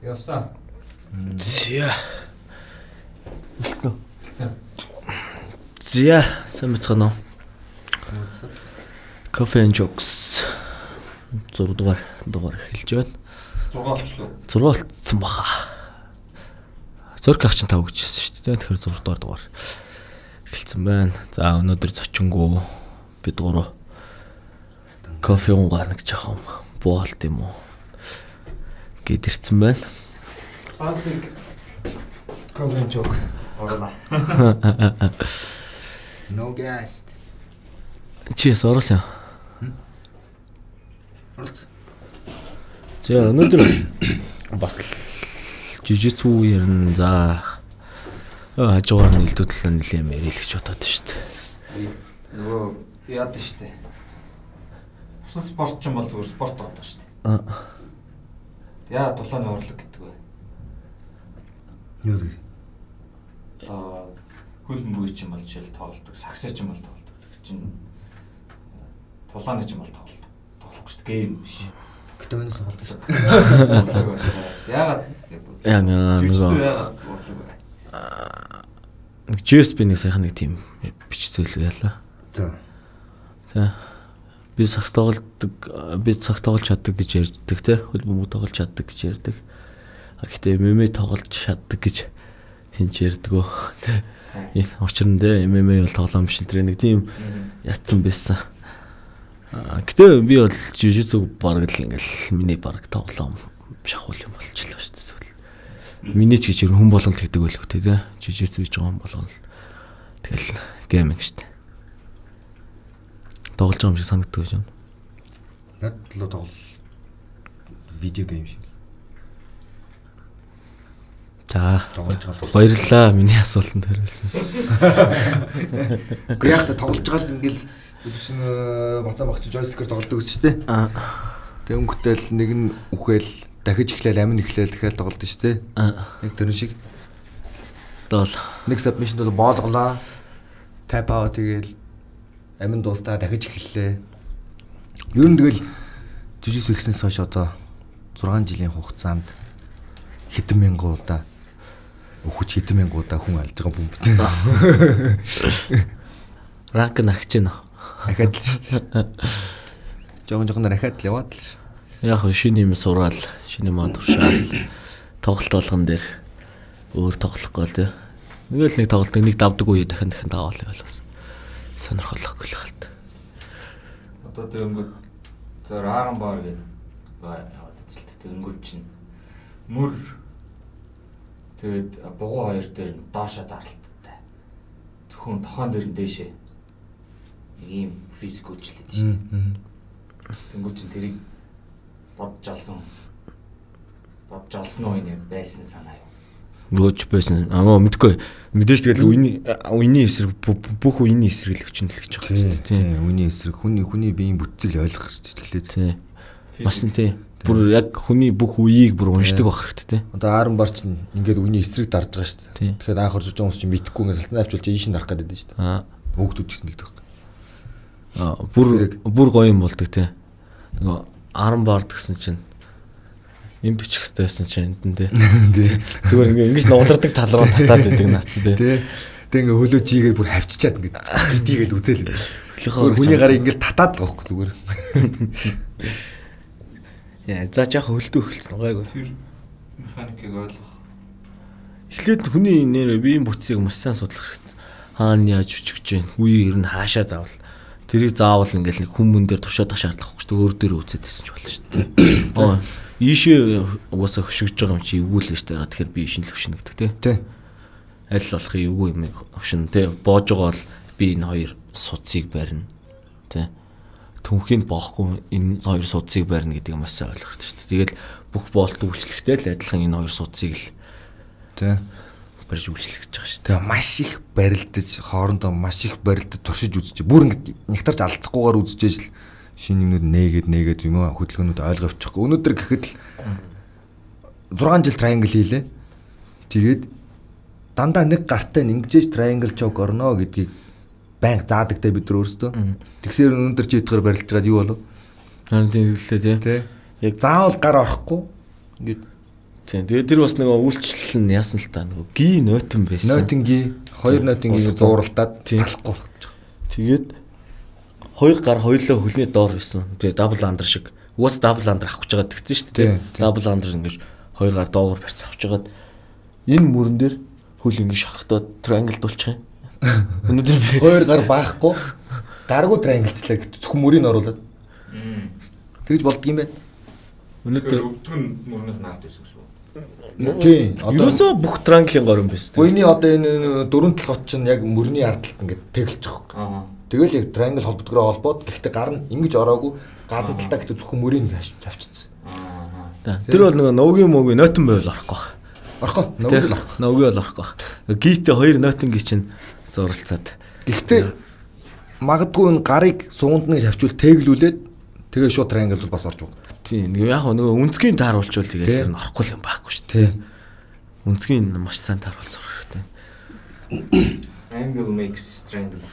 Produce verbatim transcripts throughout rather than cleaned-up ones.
Явсаа. Зя. Үлдсэн үү? Зя, самцгано. Coffee and Jokes. зураг дугаар дугаар эхэлж байна. зураг болчлоо. зураг болцсон баха. Зураг ах чинь тав гэжсэн шүү дээ. Тэгэхээр зураг дугаар дугаар эхэлсэн байна. За өнөөдөр зочингуу бид гурав кофе уугаана гэж яхам боолт юм уу гэдэрсэн байна. Classic coffee and joke. Орно. No guest. Чи сороос юм. Орц. За өнөөдөр бас жижигцүү ярина. За хажуугаар нь илдүүдлээ нэлээ мэрэлж бодоод шүү дээ. Нөгөө яад шүү дээ. Бусад спорт ч юм бол зүгээр спорт байдаг шүү дээ. Аа. Яа дулааны урлаг гэдэг вэ? Юу вэ? Аа хөлбөмбөг ч юм бол жишээл тоглолдог, саксаа ч юм бол тоглолдог. Чин тулааны ч юм бол тоглолдог. Тоглохгүй шүү дээ. Гейм биш. Гэтэ минь тоглолдог шүү дээ. Яагаад яа нөгөө яагаад урлаг вэ? Нэг джи эс би нэг сайхан нэг тийм бичцэл яалаа. За. За. Би сакс тоглодог, би сакс тоглож чаддаг гэж ярьдаг те. Хөлбөмбөг тоглож чаддаг гэж ярьдаг. Гэхдээ эм эм а тоглож чаддаг гэж хинч ярьдаг өө. Энэ учир нь те эм эм а бол тоглоом биш тэр нэг тийм ятсан байсан. Гэтэ би бол жижигцэг бараг л ингээл миний бараг тоглоом шахуул юм болчихлоо шүү дээ. Миний ч гэж хүн болголт гэдэг байлгүй те. Жижигцэг гэж байгаа юм болгоно. Тэгэл гейминг шүү дээ. Тоглож байгаа юм шиг санагддаг гэж байна. Над л тоглол видео гейм шиг. За тоглож байгаа л баярлалаа миний асуултанд хариулсан. Гэхдээ яг та тоглож байгаа л ингээл өдөрсөн бацаа багч joystick-ээр тоглодог гэсэн шүү дээ. Аа. Тэг өнгөтэй л нэг нь үхэл дахиж эхлээл амин эхлээл дахиад тоглодог шүү дээ. Аа. Яг тэр шиг. Дол нэг submission бол боолголоо. Tap out тэгээл амин дуустаа дахиж эхэллээ. Ер нь тэгэл жижигс ихснээс хойш одоо зургаан жилийн хугацаанд хэдэн мянган удаа өхөж хэдэн мянган удаа хүн алж байгаа юм бэ? Ранк нагч гэнэ. Ахаад л шүү дээ. Жогон жогон ахаад л яваад л шүү дээ. Яг шинэ юм сураал, шинэ мод туршаал. Тоглолт болгон дээр өөр тоглохгүй л тий. Нэгэл нэг тоглолтыг нэг давдаг үе дахин дахин даваал байл бас. Сонирхолтой л хаалт. Одоо тэгэнгүүт зөөр ааран баар гэдэг яваад эцэлт тэгэнгүүт чинь мөр тэгээд бугуу хоёр дээр нь доошоо даралттай. Зөвхөн тохон дээр нь дээшээ нэг юм физик үйлчлээд шээ. Тэгэнгүүт чинь тэрийг бодж олсон. Бодж олсон уу энэ байсан санаа юу? Гөөч байсан. Аа мэдгүй. Мэдээж тэгэл үений үений эсрэг бүх үений эсрэг л өчнөл гэж байгаа шүү дээ. Тийм. Үений эсрэг хүний хүний биеийн бүтцийг ойлгох хэрэгтэй. Тийм. Бас нь тийм. Бүр яг хүний бүх үеийг бүр уншдаг байх хэрэгтэй тийм. Одоо ааран бар чинь ингээд үений эсрэг дарж байгаа шүү дээ. Тэгэхээр анх орж байгаа хүмүүс чинь мэдхгүй ингээд салтан авчулж ийш нь дарах гэдэг дээ шүү дээ. Аа. Хөөгдүүд гэсэн нэг тоххой. Аа бүр бүр гоё юм болдог тийм. Нөгөө ааран баард гэсэн чинь энд өчих хэвээр байсан чинь энд нь тий. Зүгээр ингээ ингэж нугалардаг тал руу татаад байдаг наац тий. Тэг ингээ хөлөө жигээ бүр хавчичаад ингээ дидийгээл үзээл. Хүний гарыг ингээ татаад байгаа хөөх зүгээр. Яа за жаах хөлдөө эхэлсэн гайгүй. Механикийг ойлгох. Эхлээд хүний нэр биеийн бүтцийг маш сайн судлах хэрэгтэй. Хаана яаж өчгөж जैन, үе ер нь хаашаа заавал. Тэрийг заавал ингээл нэг хүмүүн дээр туршаадах шаардлага байхгүй шүү дээ. Өөр дээр үзээд байсан ч болно шүү дээ. Аа ийшээ угаасаа хөшигж байгаа юм чи эвгүй л гэж дараа тэгэхээр би шинэл хөшнө гэдэг тий. Тий. Аль болох эвгүй юм хөшнө тий. Боож байгаа бол би энэ хоёр судсыг барина. Тий. Түнхэнд боохгүй энэ хоёр судсыг барина гэдгийг маш сайн ойлгох хэрэгтэй шүү дээ. Тэгэл бүх боолт үйлчлэхтэй л адилхан энэ хоёр судсыг л тий барьж үйлчлэх гэж байгаа шүү дээ. Тэгээ маш их барилдаж хоорондоо маш их барилдаж туршиж үзэж бүр ингэ нэгтарч алдцахгүйгээр үзэж л шинэ юмнууд нээгээд нээгээд юм аа хөдөлгөөнүүд ойлгож авчихгүй. Өнөөдөр гэхэд л зургаан жил triangle хийлээ. Тэгээд дандаа нэг гартаа ингэжээж triangle choke орно гэдгийг байнга заадагтай бид нар өөрсдөө. Тэгсээр өнөөдөр чи идэхээр барилж байгаад юу болов? Харин тийм хэлээ тий. Яг заавал гар орохгүй. Ингээд Тийм. Тэгээд тэр бас нөгөө үйлчлэл нь яасан л та нөгөө ги нойтон байсан. Нойтон ги, хоёр нойтон гийг зууралдаад салахгүй болгож байгаа. Тэгээд хоёр гар хоёулаа хөлний доор байсан. Тэгээд дабл андер шиг. Уус дабл андер авах гэж байгаа тэгсэн шүү дээ. Дабл андер ингэж хоёр гар доогоор барьц авч жагаад энэ мөрөн дээр хөл ингэ шахахтаа triangle дуулчих юм. Өнөөдөр би хоёр гар баахгүй гаргуу triangle-члаа зөвхөн мөрийг оруулаад. Тэгж болдго юм байна. Өнөөдөр өвдгөн мөрнөх нард байсан гэсэн үг. Тийм. Ерөөсөө бүх triangle-ын гор юм байсан. Гойны одоо энэ дөрөв талхот чинь яг мөрний ардталт ингээд тэгэлж байгаа. Тэгэл яг triangle холбогдгороо холбоод гэхдээ гар нь ингэж ороогүй гадна талтаа гэхдээ зөвхөн мөрийг тавьчихсан. Тэр бол нөгөө ногийн мөгийн нойтон байвал орохгүй баг. Орохгүй. Ногийн л орохгүй. Ногийн бол орохгүй баг. Гийтээ хоёр нойтон ги чинь зуралцаад. Гэхдээ магадгүй энэ гарыг суунд нь шавчвал тэглүүлээд тэгээ шууд triangle бас орж байгаа. Тийм. Яг нөгөө үнцгийн тааруулчвал тэгээд тэр нь орохгүй юм байхгүй шүү дээ. Үнцгийн маш сайн тааруулж зурх хэрэгтэй. Angle makes triangle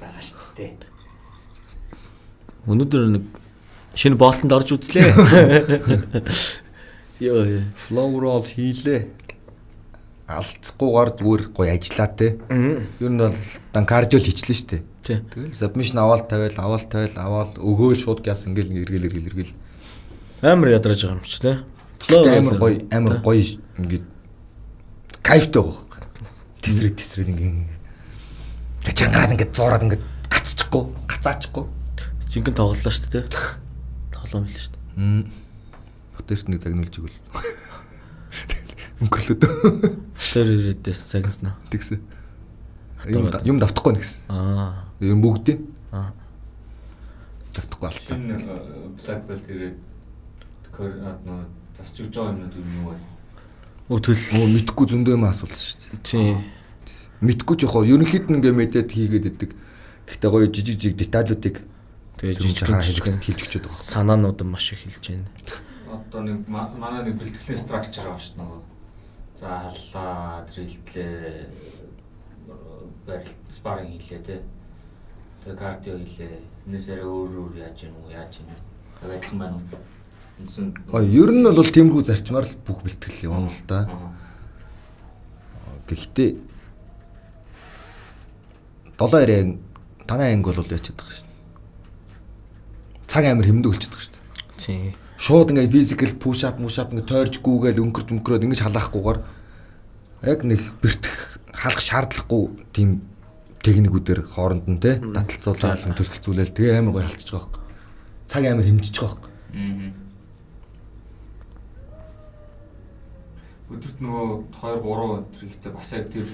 байгаа шүү дээ. Өнөөдөр нэг шинэ боолтонд орж үзлээ. Йоо, flow roll хийлээ. Алдцахгүйгээр зүгээр гоё ажиллаа те. Ер нь бол дан кардио л хийчлээ шүү дээ. Тэгэл submission аваад тавиал, аваад тавиал, аваад өгөөл шууд гяс ингээл эргэл эргэл эргэл. Амар ядарч байгаа юм чи те. Flow амар гоё, амар гоё ингээд кайфтай байгаа. Тесрэг тесрэг ингээд чангараад ингээд зуураад ингээд гацчихгүй, гацаачихгүй. Жинхэнэ тоглолоо шүү дээ. Тоглоом л шүү дээ. Хотэрт нэг загнуулж игэл. Өнгөрлөд. Тэр ирээдээс загнаснаа. Тэгсэн. Юм юм давтахгүй нэгсэн. Аа. Юм бүгдээ. Аа. Давтахгүй алцаа. Black belt ирээд нөө засч өгч байгаа юмнууд юу вэ? Өө төл өө мэдхгүй зөндөө юм асуулт шүү дээ. Тийм. Мэдхгүй ч яхаа ерөнхийд нь ингээ мэдээд хийгээд идэг. Гэхдээ гоё жижиг жижиг деталлуудыг тэгээ жижиг жижиг хэлж өчөд байгаа. Санаанууд нь маш их хэлж байна. Одоо нэг манай нэг бэлтгэлийн structure байгаа шүү дээ. За халлаа, дрилтлээ, барилт спарринг хийлээ те. Тэгээ кардио хийлээ. Энэсээр өөр өөр яаж юм уу, яаж юм. Тэгээ адилхан байна уу? Ой, ер нь бол тиймэрхүү зарчмаар л бүх бэлтгэл явна л да. Гэхдээ долоо яриг танай анги бол яачихад байгаа шин. Цаг амир хэмндэг болчиход байгаа шин. Тийм. Шууд ингээ physical push up, push up ингээ тойрж гүүгээл өнгөрч өнгөрөөд ингэж халаахгүйгээр яг нэг бэртэх халах шаардлагагүй тийм техникүүдээр хооронд нь те таталцуулаад төлөвлөцүүлэл тэгээ амар гоё халтчих байгаа юм. Цаг амир хэмжиж байгаа юм. Аа. Өдөрт нөгөө хоёр гурван өдрийгтэй бас яг тэр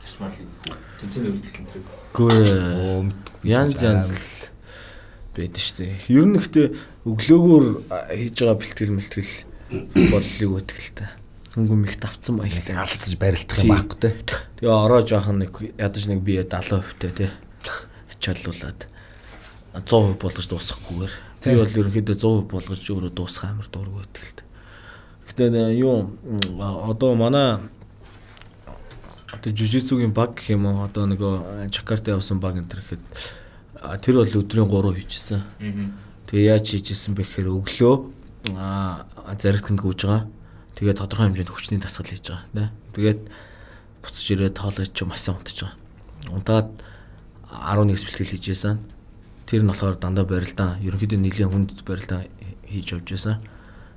зарчмаар хийх үү? Тэнцэн өвлөлтөл энэ. Үгүй янз янз л байдаг шүү дээ. Ер нь ихтэй өглөөгөөр хийж байгаа бэлтгэл мэлтгэл боллыг өтгэлтэй. Хөнгөн их давцсан баяртай алдаж барилдах юм байхгүй те. Тэгээ ороо жоохон нэг ядаж нэг бие дагалан хувьтай те. Ачааллуулаад сто процент болгож дуусгахгүйгээр. Би бол ерөнхийдөө сто процент болгож өөрөө дуусгах амар дург өтгэлтэй. Гэтэ юу одоо манай одоо жижигцүүгийн баг гэх юм уу одоо нөгөө Чакарта явсан баг энэ төр гэхэд тэр бол өдрийн гурав хийжсэн. Тэгээ яаж хийжсэн бэ гэхээр өглөө аа зарилтанд гүйж байгаа. Тэгээ тодорхой хэмжээнд хүчний дасгал хийж байгаа. Тэгээд буцаж ирээд тоолож ч маш сайн унтж байгаа. Унтаад арван нэгс бэлтгэл хийжсэн. Тэр нь болохоор дандаа барилдаа ерөнхийдөө нэлийн хүнд барилдаа хийж явж байсан.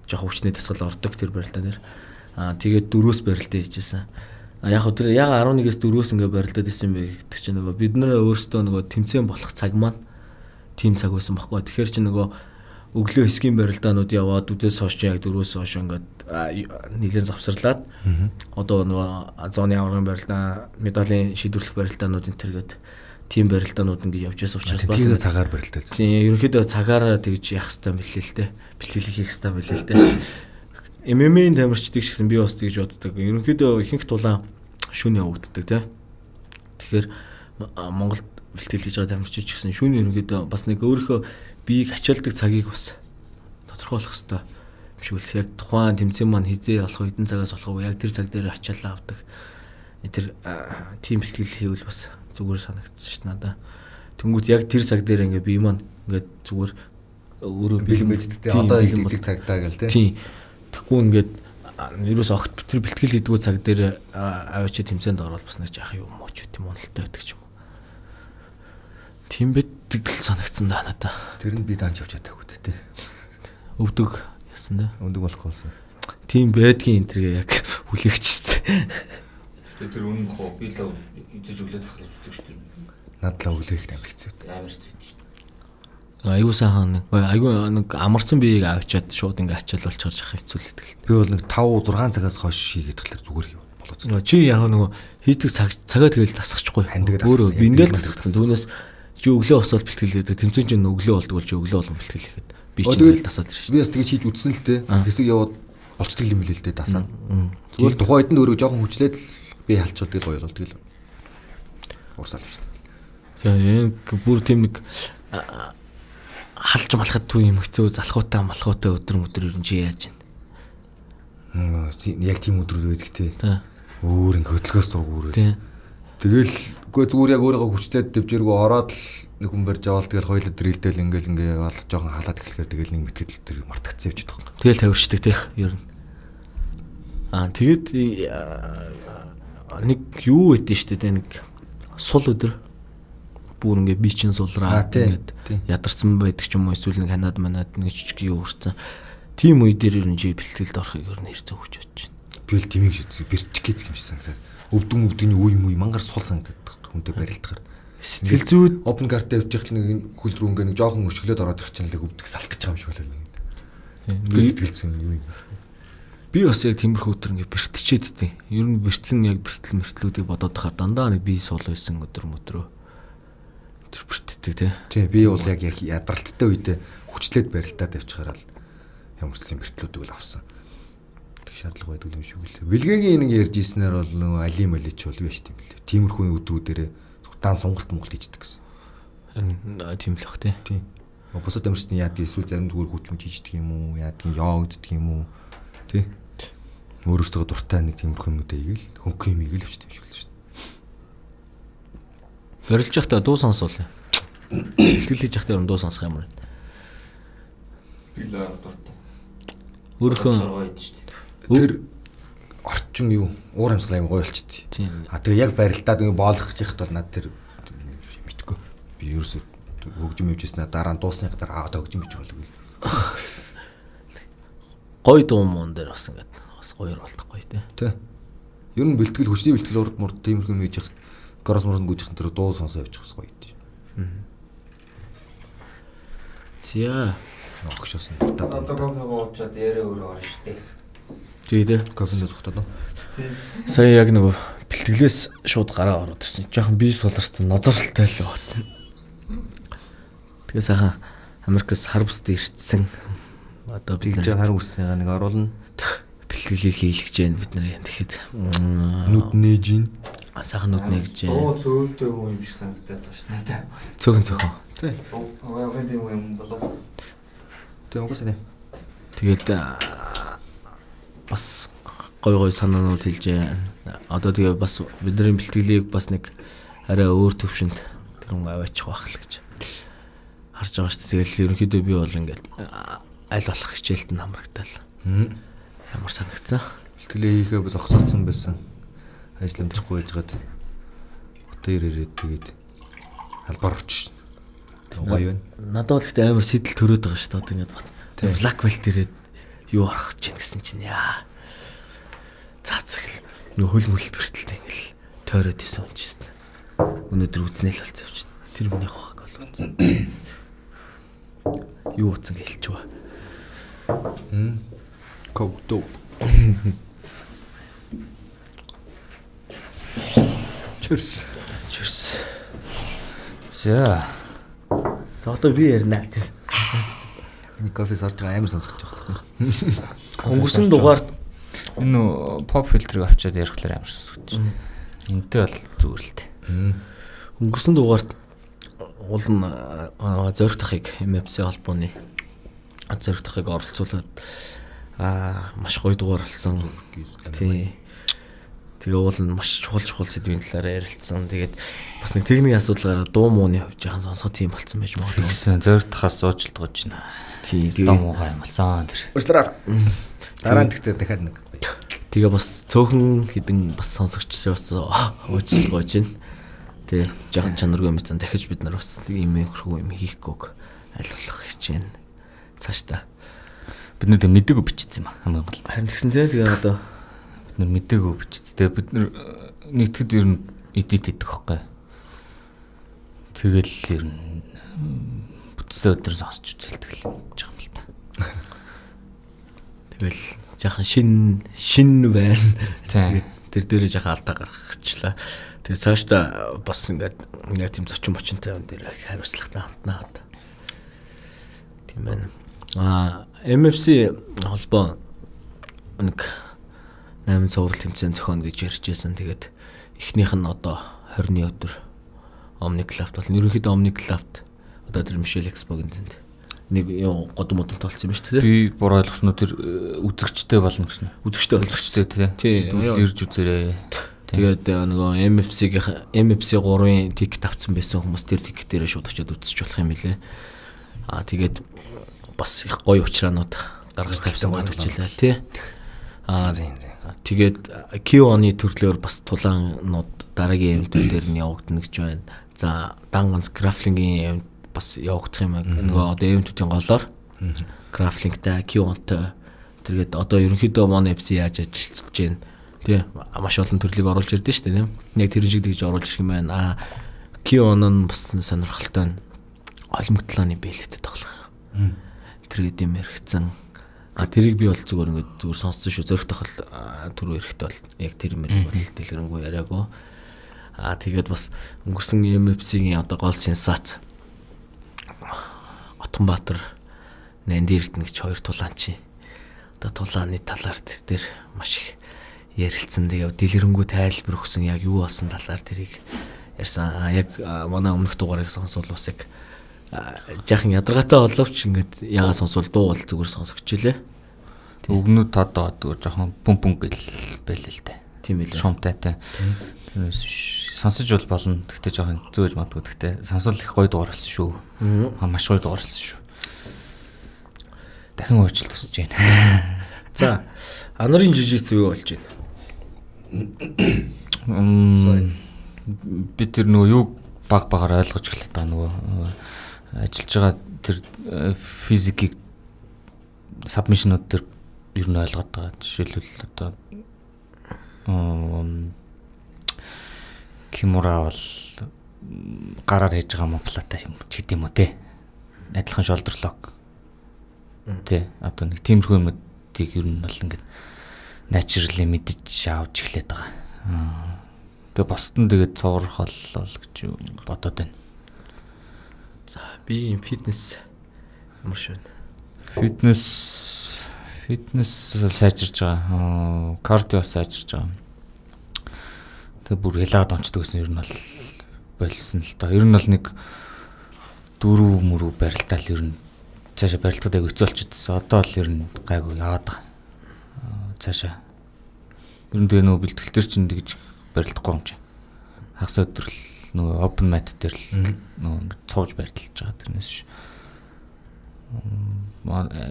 Жохо хүчний дасгал ордог тэр барилдаа нэр. Аа тэгээд дөрөвс барилдаа хийжсэн. А яг тэр яг арван нэгээс дөрөвс ингээ барилдаад исэн бэ гэдэг чинь нөгөө бид нэр өөрсдөө нөгөө тэмцээн болох цаг маань тим цаг байсан байхгүй. Тэгэхээр чи нөгөө өглөө хэсгийн барилдаанууд яваад үдээс хойш яг дөрөвс хойш ингээд нийлэн завсарлаад одоо нөгөө зооны аврагын барилдаа, медалийн шийдвэрлэх барилдаанууд энэ төргээд тим барилдаанууд ингээд явж байсан учраас бас тийм цагаар барилдаад. Тийм ерөнхийдөө цагаараа тэгж явах хэрэгтэй мэлээ л дээ. Бэлтгэл хийх хэрэгтэй мэлээ л дээ. эм эм а-ийн тамирчдыг шигсэн би бас тэгж боддог. Ерөнхийдөө ихэнх тулаан шөнө явагддаг тийм. Тэгэхээр Монголд бэлтгэл хийж байгаа тамирчид ч гэсэн шөнө ерөнхийдөө бас нэг өөрийнхөө биеийг ачаалдаг цагийг бас тодорхойлох хэрэгтэй юм шиг л яг тухайн тэмцээн маань хизээ болох хэдэн цагаас болох вэ? Яг тэр цаг дээр ачаалаа авдаг. Тэр тим бэлтгэл хийвэл бас зүгээр санагдсан ш надаа. Тэнгүүд яг тэр цаг дээр ингээ бие маань ингээд зүгээр өөрөө бэлэн байждаг те одоо хэлдэг цагтаа гэл те. Тийм. Тэгэхгүй ингээд ерөөс огт тэр бэлтгэл хийдгүү цаг дээр аваач тэмцээнд ороод бас нэг яах юм уу ч гэдэм уналтай байдаг ч юм уу. Тийм битгэл санагдсан да надаа. Тэр нь би даанч явж чадаагүй дээ. Өвдөг яасан дээ. Өвдөг болох болсон. Тийм байдгийн энтергээ яг хүлээгчсэн. Тэгээ тэр үнэн бохоо би л идэж өглөө засгалж үзэж шүү дээ. Надлаа өглөөх амар хэцүү. Амар хэцүү. Аюу сайхан нэг аюу нэг амарсан биеийг авчиад шууд ингээ ачаал болчихорч ах хэцүү л гэдэг. Би бол нэг five six цагаас хойш хийгээд тахлаар зүгээр хийв болоод. Нөгөө чи яг нөгөө хийдэг цаг цагаа тэгэл тасчихгүй. Өөрөө биндэл тасчихсан. Түүнээс чи өглөө босоод бэлтгэл хийдэг. Тэмцэн чинь өглөө болдог бол чи өглөө болгон бэлтгэл хийхэд би чи тэгэл тасаад ирж. Би бас тэгэж хийж үзсэн л дээ. Хэсэг яваад болцдог юм билээ л дээ дасаад. Зүгээр тухайд нь өөрөө жоохон хүчлээд би халчвал тэгэл гоё болдог л. Уусаал юм шүү дээ. Тэгээ бүр тийм нэг халж малахад түү юм хэцүү залхуутай малхуутай өдөр өдөр ер нь чи яаж байна. Яг тийм өдрүүд байдаг тий. Өөр ингээ хөдөлгөөс дургуур үү. Тэгэл үгүй зүгээр яг өөрийгөө хүчлээд дэвжээргүй ороод л нэг хүн барьж аваад тэгэл хоёул дрилдэл ингээл ингээ бол жоохон халаад эхлэхээр тэгэл нэг мэтгэл тэр мартагцсан явж байгаа юм. Тэгэл тавирчдаг тий ер нь. Аа тэгэд нэг юу байдэн штэ тэ нэг сул өдөр бүр ингээ би чин сулраа ингээд ядарсан байдаг ч юм уу эсвэл нэг ханаад манад нэг жижиг юу өрцөн. Тим үе дээр ер нь жи бэлтгэлд орохыг ер нь хэрцээ өгч бодож байна. Би л тимийг бэрч гээд юм шиг санагдаад. Өвдөн өвдөгний үе мүй мангар сул санагдаад хүнтэй барилдахаар. Сэтгэл зүйд open card-д явж ихл нэг хөл рүү ингээ нэг жоохон өшгөлөд ороод ирэх чинь л өвдөх салт гэж байгаа юм шиг болоо. Би сэтгэл зүйн юу юм. Би бас яг тиймэрхүү өдөр ингээ бэртчихэд дээ. Ер нь бэртсэн яг бэртэл мэртлүүдийг бодоод тахаар дандаа нэг бие сул байсан өдөр мөдрөө. Тэр бэртдэг тий. Тий би бол яг яг ядралттай үедээ хүчлээд барилтаад явчихараа л ямарсан бэртлүүдийг л авсан. Тэг шаардлага байдгүй юм шиг үлээ. Бэлгээгийн нэг ярьж ийснээр бол нөгөө али малич бол юу яаш тийм лээ. Тиймэрхүү өдрүүдээрээ дан сонголт монголт хийждэг гэсэн. Харин тийм л бах тий. Тий. Босод амирчны яад эсвэл зарим зүгээр хүчмж хийждэг юм уу? Яадгийн йогддаг юм уу? Тий. Өөрөөсөө дуртай нэг тиймэрхүү юмудаа игээл хөнгөн юм игээл өчтэй юм шиг л шүү дээ. Барилж явахдаа дуу сонсвол. Бэлтгэл хийж явахдаа дуу сонсох юм байна. Би л дуртай. Өөрөөхөө тэр орчин юу уур амьсгал аим гоё болчихдээ. А тэгээ яг барилдаад ингэ боолгох яхад бол над тэр мэдгүй. Би ерөөсөө хөгжим явжсэн дараа нь дуусны дараа аа хөгжим бич болов. Гой дуу мөн дээр бас ингэ бас гоёр болтохгүй тий. Тий. Ер нь бэлтгэл хүчний бэлтгэл урд мурд тиймэрхүү юм хийж яхад горос мөрөнд гүйжих тэр дуу сонсоо явчих бас гоё дээ. Зя. Огшоосон. Одоо кофе гоочоод яриа өөрөө орно штэ. Тэгээд кофенд зогтоод. Сая яг нөгөө бэлтгэлээс шууд гараа ороод ирсэн. Жохон бие суларсан нозорлолтой л бат. Тэгээ сайхан Америкас хар бусд ирсэн. Одоо бид нэг хар үсээ нэг оруулна. Бэлтгэлийг хийлгэж जैन бид нар юм тэгэхэд нүд нээж ин. Сайхан нүд нээж जैन. Оо цөөлтэй юм шиг санагдаад байна ш надад. Цөөхөн цөөхөн. Тий. Oo яг тийм юм болоо. Тэг угсаа. Тэгэл бас гой гой санаанууд хэлж байна. Одоо тэгээ бас бидний бэлтгэлийг бас нэг арай өөр төвшөнд тэр хүн аваачих байх л гэж харж байгаа шүү дээ. Тэгэл ерөнхийдөө би бол ингээд аль болох хичээлд нь хамрагдал. Ямар санагцсан. Бэлтгэлээ хийхээ зогсооцсон байсан. Ажилламжихгүй байж гад. Хотоор ирээд тэгээд халгаар очиж. Гоё байна. Надад бол ихтэй амар сэтэл төрөөд байгаа шүү дээ. Одоо ингээд бат. Тэгээд блак белт ирээд юу арах чинь гэсэн чинь яа. Цаацгал. Нөх хөл мөл бэртэлтэй ингээл тойроод исэн юм чийсэн. Өнөөдөр үзнэл болцсон юм чинь. Тэр миний хахаг бол үзнэ. Юу утсан гэлчвэ. Хм. Коуто. Cheers. Cheers. За. За одоо би ярина. Энэ кофе сорж байгаа амар сонсож байгаа. Өнгөрсөн дугаард энэ pop filter-ыг авчиад ярихлаар амар сонсогдож байна. Энтэй бол зүгээр л дээ. Өнгөрсөн дугаард уул нь зориг тахыг эм эф си холбооны зориг тахыг оролцуулаад аа маш гоё дугаар болсон. Тий. Тэгээ уул нь маш чухал чухал сэдвийн талаар ярилцсан. Тэгээд бас нэг техникийн асуудлаараа дуу мууны хувьд яхан сонсох тийм болцсон байж магадгүй. Тэгсэн зөөртхаас уучлалт гож байна. Тийм дуу муугаа юмсан тэр. Уучлаарай. Дараа нь тэгтээ дахиад нэг. Тэгээ бас цөөхөн хідэн бас сонсогчсоос уучлалт гож байна. Тэгээ жаахан чанаргүй юм цан дахиж бид нар бас ийм хөрхөө юм хийхгүйг айлуулах гэж байна. Цааш та бид нар мэдээгүй бичсэн юм хамгийн гол. Харин тэгсэн тэгээ одоо бид нар мэдээгүй бичсэн. Тэгээ бид нар нэгтгэд ер нь эдит хийдэг хөхгүй. Тэгэл ер нь бүтсэн өдөр сонсч үзэлдэг л гэж байгаа юм л та. Тэгэл жаахан шин шин байна. Тэгээд тэр дээрээ жаахан алдаа гаргачихлаа. Тэгээ цаашдаа бас ингээд нэг тийм зочин бочинтай юм дээр хариуцлагатай ханднаа. Тийм байна. А эм эф си холбоо нэг найман цуврал тэмцээн зохионо гэж ярьжсэн. Тэгээд эхнийх нь одоо хорины өдөр Omniclaft бол ерөнхийдөө Omniclaft одоо тэр Michelle Expo-гийн тэнд нэг юу годом модон толцсон юм шүү дээ. Би буруу ойлгосноо тэр үзэгчтэй болно гэсэн. Үзэгчтэй үзэгчтэй тий. Ирж үзээрэй. Тэгээд нөгөө эм эф си-ийн эм эф си гурван тикет авсан байсан хүмүүс тэр тикет дээрээ шууд очиод үзэж болох юм билэ. Аа тэгээд бас их гоё учраанууд гаргаж тавьсан гарч илээ тий. Аа тэгээд Q-оны төрлөөр бас тулаанууд дараагийн ивэнтүүд дээр нь явагдана гэж байна. За дан ганц графлингийн ивэнт бас явагдах юм аа. Нөгөө одоо ивэнтүүдийн голоор графлингтай Q-онтой тэргээд одоо ерөнхийдөө Mon эф си яаж ажиллаж байна. Тий маш олон төрлийг оруулж ирдэ шүү дээ. Яг тэр шиг тэгж оруулж ирэх юм байна. Аа Q-он нь бас сонирхолтой нь олимтлааны бэлэгт тоглох. Тэр гэдэм яригцсан. А тэрийг би бол зүгээр ингээд зүгээр сонссон шүү. Зөрөх тохол түрүү эрэхтэй бол яг тэр мэрэг бол дэлгэрэнгүй яриаггүй. А тэгээд бас өнгөрсөн эм эф си-ийн одоо гол сенсац Отонбаатар Нандирт нэг хоёр тулаан чи. Одоо тулааны талаар тэр дээр маш их ярилцсан. Тэгээ дэлгэрэнгүй тайлбар өгсөн яг юу болсон талаар тэрийг ярьсан. Яг манай өмнөх дугаарыг сонсвол бас яг жаахан ядаргаатай боловч ингээд ягаа сонсвол дуу бол зүгээр сонсогч илээ. Өвгнүүд тодоо жоохон пүм пүм гэл байлээ л дээ. Тийм ээ. Шумтайтай. Тэрнээс сонсож бол болно. Гэхдээ жоохон зөөж мадгүй. Гэхдээ сонсол их гоё дугаар болсон шүү. Аа маш гоё дугаар болсон шүү. Дахин уучлалт хүсэж байна. За, анарын жижиг зүйл болж байна. Мм би тэр нөгөө юу баг багаар ойлгож эхлэх та нөгөө ажиллаж байгаа тэр физикийг сабмишнууд тэр ер нь ойлгоод байгаа. Жишээлбэл одоо Кимура бол гараар хийж байгаа моплата юм ч гэдэм үү те. Адилхан шолдерлог. Тэ одоо нэг тиймэрхүү юмнуудыг ер нь бол ингээд naturally мэдж авч эхлэх байгаа. Тэгээ босдон тэгээд цуврах боллоо гэж бодоод байна. За би юм фитнес ямар швэн. Фитнес фитнес сайжирч байгаа. Кардио сайжирч байгаа. Тэгээ бүр ялаад онцдог гэсэн ер нь бол болсон л доо. Ер нь бол нэг дөрөв мөрөв барилтаал ер нь цаашаа барилтад аяг өцөөлчихсөн. Одоо л ер нь гайгүй яваад байгаа. Цаашаа ер нь тэгээ нөгөө бэлтгэл төр чинь тэгж барилдахгүй юм чинь. Хагас өдрөл нөгөө open mat дээр л нөгөө цовж барилдаж байгаа тэрнээс ш.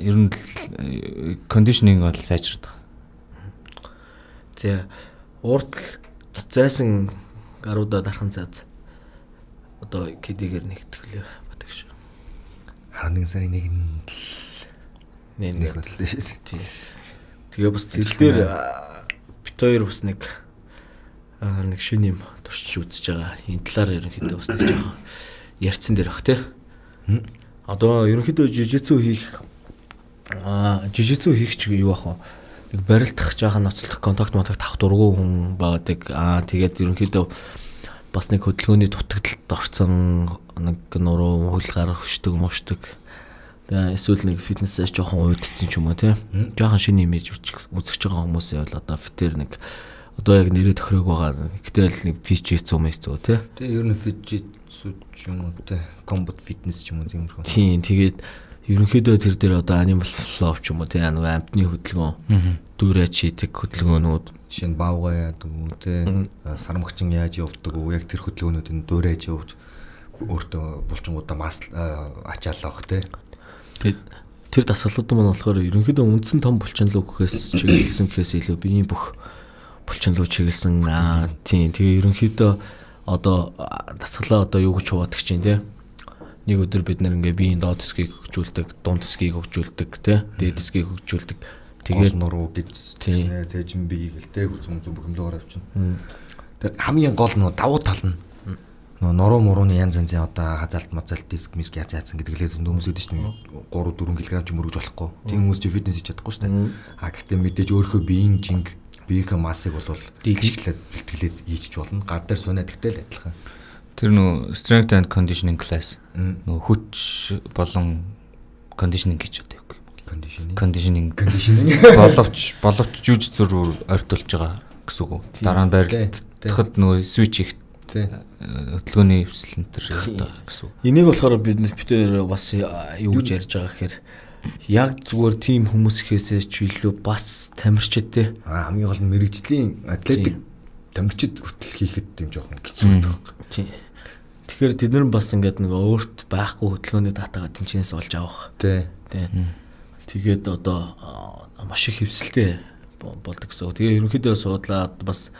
Ер нь кондишнинг бол сайжирдаг. За урд зайсан гаруудаа дархан цааз одоо кэдигээр нэгтгэлээ батг ш. арван нэг сарын нэгэнд нэг нэг хөдлөө шүү. Тий. Тэгээ бас тэл дээр бит хоёр бас нэг нэг шинэ юм туршиж үзэж байгаа. Энэ талаар ерөнхийдөө бас нэг жоохон ярьцсан дээр бах тий. Одоо ерөнхийдөө жижигцүү хийх аа жижигцүү хийх ч юу бах вэ? Нэг барилдах жоохон ноцлох контакт монтакт авах дургу хүн баадаг. Аа тэгээд ерөнхийдөө бас нэг хөдөлгөөний дутагдлалд орсон нэг нуруу хөлгаар хөшдөг мушдаг. Тэгээ эсвэл нэг фитнесээс жоохон уйдцсан ч юм уу тий. Жоохон шинэ имиж үзэж байгаа хүмүүсээ бол одоо фитэр нэг одоо яг нэрээ тохирог байгаа. Гэтэл нэг фичэц юм эсвэл тий. Тэгээ ер нь фичэц ч юм уу тий. Комбат фитнес ч юм уу тиймэрхүү. Тийм тэгээд ерөнхийдөө тэр дээр одоо animal flow ч юм уу тийм нэг амтны хөдөлгөөн дүүрээ чийдэг хөдөлгөөнүүд жишээ нь баавгаа яадаг үү тийм сармагчин яаж явдаг уу яг тэр хөдөлгөөнүүдийн дүүрээж явж өөртөө булчингуудаа мас ачаалах тийм. Тэгээд тэр дасгалууд маань болохоор ерөнхийдөө үндсэн том булчинлуу гэхээс чиглэсэн гэхээс илүү биеийн бүх булчинлуу чиглэсэн аа тийм тэгээ ерөнхийдөө одоо дасгалаа одоо юу гэж хуваадаг чинь тийм. Нэг өдөр бид нэр ингээ биеийн доод хэсгийг хөгжүүлдэг, дунд хэсгийг хөгжүүлдэг, тий, дээд хэсгийг хөгжүүлдэг. Тэгээд нуруу гэдснэ, зэжин бие гэлтэй хүзүн зүм бөхөмлөөр авчихна. Тэгээд хамгийн гол нь давуу тал нь нуруу мурууны янз янзын одоо хазаалт мазаалт диск миск яц яцсан гэдгэлээ зөндөөмс үүдэж чинь три дөрвөн кг ч мөрөж болохгүй. Тийм хүмүүс чи фитнес хийж чадахгүй шүү дээ. А гэхдээ мэдээж өөрөө биеийн жинг, биеийнхээ массыг бол дийлжлээд бэлтгэлээд хийж болно. Гар дээр сунаад ихтэй л адилхан. Тэр нөө strength and conditioning class нөө хүч болон conditioning гэж одоо юу conditioning conditioning conditioning боловч боловч жүж зур ойртуулж байгаа гэсэн үг. Дараа нь барилдахад нөө switch их хөдөлгөөний хвсэл энэ төр одоо гэсэн үг. Энийг болохоор бид битээр бас юу гэж ярьж байгаа гэхээр яг зүгээр тийм хүмүүс ихээсээ ч илүү бас тамирчид те хамгийн гол нь мэрэгжлийн атлетик тамирчид хүртэл хийхэд тийм жоохон хэцүү байдаг. Тэгэхээр тэд нар бас ингээд нэг өөрт байхгүй хөдөлгөөний датагаа тэнцэнээс олж авах. Тий. Тий. Тэгээд одоо маш их хөвсөлтэй болдог гэсэн. Тэгээ ерөнхийдөө суудлаад бас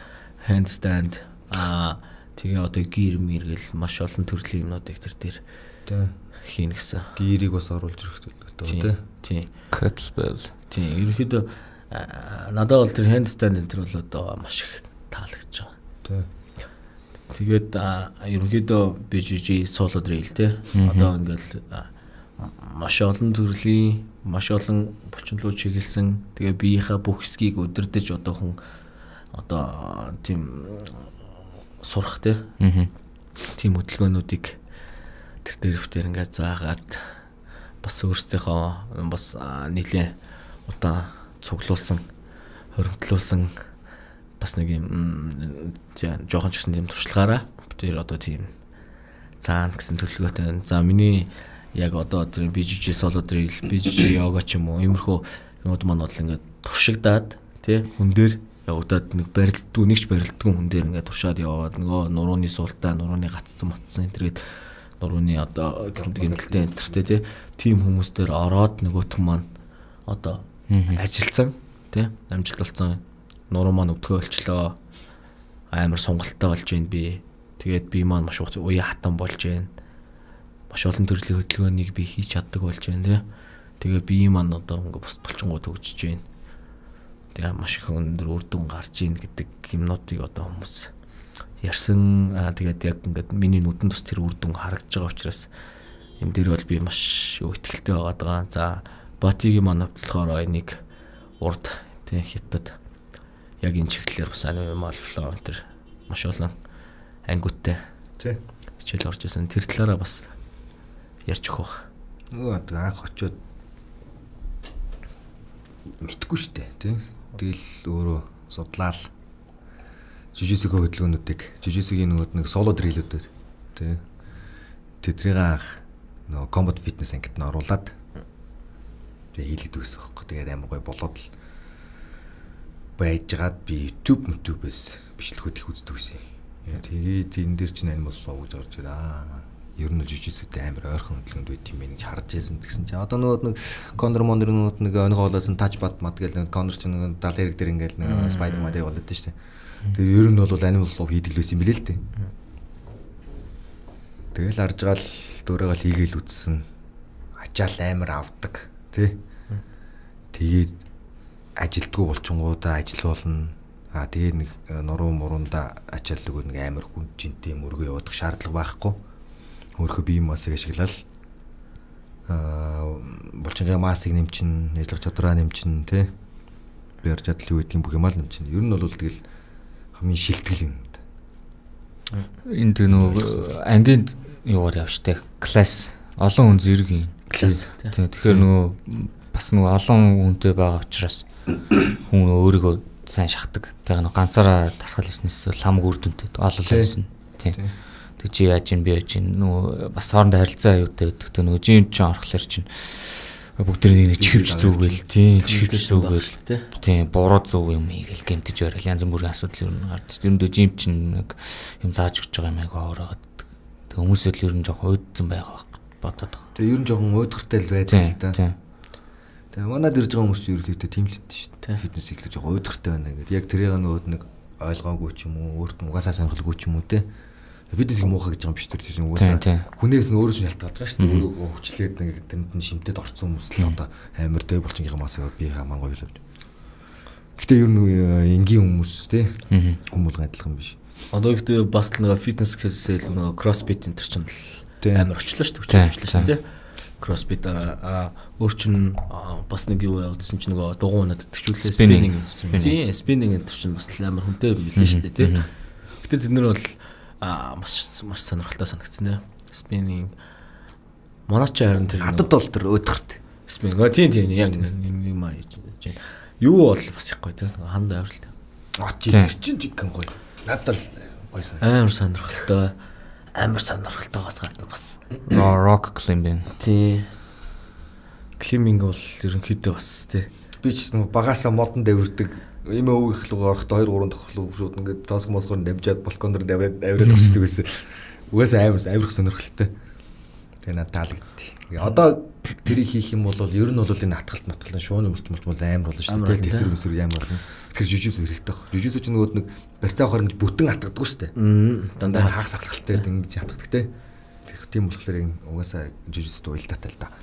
handstand аа тэгээ одоо гир мэргэл маш олон төрлийн юмнуудыг тэр дээр тий хийн гэсэн. Гирийг бас оруулж ирэх гэдэг Тий. тий. Kettlebell. Тий. Ерөнхийдөө надад бол тэр handstand энэ төр бол одоо маш их таалагдж байгаа. Тий. Тэгээд ерөнхийдөө би жижиг соло drill те одоо ингээл маш олон төрлийн маш олон булчинлуу чиглэсэн тэгээ биеийнхээ бүх хэсгийг удирдах одоо хүн одоо тийм сурах те тийм хөдөлгөөнүүдийг тэр дээр битэр ингээд заагаад бас өөрсдийнхөө бас нийлээ одоо цуглуулсан хоригдлуулсан бас нэг юм жоохон ч гэсэн тийм туршлагаараа тэр одоо тийм цаана гэсэн төлөвлөгөөтэй. За миний яг одоо тэр би жижиг соло drill, би жижиг йога ч юм уу иймэрхүү юмуд маань бол ингээд туршигдаад тий хүн дээр явагдаад нэг барилддгүй нэгч барилддгүй хүн дээр ингээд туршаад яваад нөгөө нурууны суултаа, нурууны гаццсан матсан энэ төргээд нурууны одоо гэмтэлтэй энтертэй тий тийм хүмүүс дээр ороод нөгөөх маань одоо ажилдсан тий амжилт болсон нуруу маань өвдгөө олчлоо амар сонголттой болж байна би. Тэгээд би маань маш уян хатан болж байна. Маш олон төрлийн хөдөлгөөнийг би хийж чаддаг болж байна тий. Тэгээ би маань одоо ингээ бус булчингууд хөгжиж байна. Тэгээ маш их өндөр үр дүн гарч ийн гэдэг юмнуудыг одоо хүмүүс ярьсан. Аа тэгээд яг ингээд миний нүдэн тус тэр үр дүн харагдж байгаа учраас энэ дээр бол би маш итгэлтэй байгаа. За Батигийн маань болохоор энийг урд тий хятад яг энэ чиглэлээр бас animal flow энэ маш олон ангиудтай тий хичээл орж исэн. Тэр талаараа бас ярьж өгөх. Нөгөө анх очиод мэдгүй штэ тий. Тэгэл өөрөө судлаал жижигсэг хөдөлгөөнүүдийг жижигсэгийн нөгөө нэг соло дрилүүдээр тий. Тэдрийг анх нөгөө combat fitness ангид нь оруулаад тэгээ хийлгэдэг гэсэн юм байна. Тэгээд амар гой болоод л байжгаад би YouTube YouTube-ээс бичлэгүүд их үздэг байсан. Тэгээд энэ дээр чинь animal flow гэж орж ирээ. Аа, ер нь жижигсэдтэй амар ойрхон хөдөлгөөнд байт юм бэ гэж харж байсан гэсэн чинь одоо нөгөө нэг Conor Mondor нөгөө нэг өнгө олоосон touch bad мат гэл Conor чинь нөгөө дал хэрэг дээр ингээл нэг Spider Man дээр болоод шүү дээ. Тэгээд ер нь бол animal flow хийдэг л байсан юм билээ л дээ. Тэгэл харж гал дөөрөөгөл хийгээл үтсэн. Ачаал амар авдаг тий. Тэгээд ажилтгүй болчингуудаа ажилуулна. Аа тэгээ нэг нуруу мурунда ачаал нөгөө нэг амар хүн жинтэй мөргөө явуудах шаардлага байхгүй. Өөрөө бие массыг ашиглал аа болчингийн массыг нэмчин, ажиллах чадвараа нэмчин тий. Бэр чадал юу гэдгийг бүх юм аа нэмчин. Ер нь бол тэгэл хамгийн шилтгэл юм. Энд нөгөө ангийн юугаар явжтэй класс олон хүн зэрэг юм. Класс. Тэгэхээр нөгөө бас нөгөө олон хүнтэй байгаа учраас хүн өөрийгөө сайн шахдаг. Тэгээ нөгөө ганцаараа тасгал хийснээс хамаг үр дүнтэй олол байсан. Тийм. Тэг чи яаж ин би яаж ин нөгөө бас хоорондоо харилцаа аюутай гэдэг. Тэг нөгөө жим чинь орохлоор чинь бүгдээ нэг чихвч зүгэл тийм чихвч зүгэл тийм буруу зүг юм ийгэл гэмтэж барил янз бүрийн асуудал юу гардаг. Тэрнээ жим чинь нэг юм зааж өгч байгаа юм айгаа ороод. Тэг хүмүүсэл ер нь жоохон уйдсан байгаа бодоод байгаа. Тэг ер нь жоохон уйдгартай л байдаг л да. Тэг манад ирж байгаа хүмүүс ерөөхдөө тийм л хэвдэж шүү дээ. Фитнес ихлэж жоохон уйдгартай байна гэдэг. Яг тэрийг нөгөө нэг ойлгоогүй ч юм уу, өөрт нь угаасаа сонирхолгүй ч юм уу те. Фитнесийг муухай гэж байгаа юм биш тэр чинь угаасаа хүнээс нь өөрөөс нь шалтгаалж байгаа шүү дээ. Өөрөө хүчлээд нэг тэнд нь шимтэд орцсон хүмүүс л одоо амар дэв болчихын масаа би хамаа гоё л. Гэтэ ер нь энгийн хүмүүс те. Хүмүүс адилхан биш. Одоо ихтэй бас л нэг фитнес гэхээсээ л нэг кроссфит энэ чинь амар очлоо шүү дээ. Хүчлээ шүү дээ. Кроссфит а өөр чинь бас нэг юу явуулсан чинь нөгөө дугуунад төвчлээ спиннинг. Тийм спиннинг энэ чинь бас амар хүнтэй билээ шүү дээ те. Гэтэ тэд нар бол а маш маш сонирхолтой санагдсан нэ. Спиннинг. Манай ч харин тэр хадад бол тэр өдгөрт. Спиннинг. Тийм тийм яг юм аа хийж байна. Юу бол бас их гоё те. Ханд аврал. А тийм чинь жигэн гоё. Надад гоё сан. Амар сонирхолтой. Амар сонирхолтой бас гадна бас. Rock climbing. Тийм. Climbing бол ерөнхийдөө бас те. Би ч нэг багасаа модон дэвэрдэг. Ийм өвөх рүү орохдоо хоёр гурван дахь руу шууд ингээд тооск мосгоор дамжаад балконоор даваад авираад орчдөг байсан. Угаасаа амар авирах сонирхолтой. Тэгээ надад таалагдтыг. Одоо тэрийг хийх юм бол ер нь бол энэ атгалт матгалын шууны үлдмэлт бол амар болно шүү дээ. Тэсэр мэсэр амар болно. Тэгэхээр жижигс хэрэгтэй баг. Жижигс ч нөгөө нэг барьцаа авахаар ингэж бүтэн атгадаггүй шүү дээ. Дандаа хагас атгалтай ингэж атгадаг те. Тийм болохоор угаасаа жижигсд уйлдаатай л да.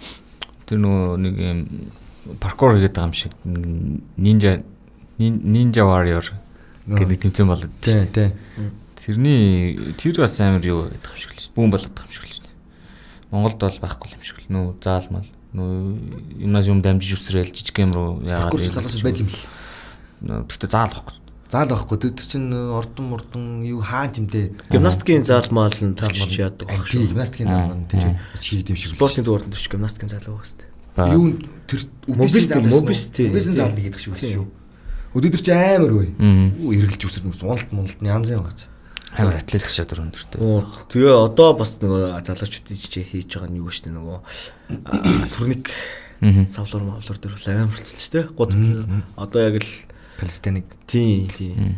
Тэр нөгөө нэг юм паркур хийгээд байгаа юм шиг нинжа Ninja Warrior гэдэг тэмцээн болоод тийм тийм. Тэрний тэр бас амар юу гэдэг юм шиг л бүүн болоод байгаа юм шиг л шүү дээ. Монголд бол байхгүй юм шиг л нөө заалмал нөө юмнаас юм дамжиж үсрээл жижиг юм руу яагаад байд юм л. Тэгтээ заал байхгүй. Заал байхгүй. Тэр чинь ордон мордон юу хааж юм дээ. Гимнастикийн заалмал нь заалмал яадаг байх шүү. Гимнастикийн заалмал тэр чийд юм шиг. Спортын дуурайнд тэр гимнастикийн заал байгаа шүү дээ. Юу тэр мобилистик мобилистик мобилистик заал гэдэг шиг шүү. Өдөр чи амар үе. Уу эргэлж үсэрч мэс уналт муналт янз юм гаж. Амар атлетик чадвар өндөртэй. Тэгээ одоо бас нөгөө залуучуудын жижиг хийж байгаа нь юу гэж нөгөө турник савлуур мавлуур дээр амар болчихсон шүү дээ. Год одоо яг л калистеник. Тий, тий.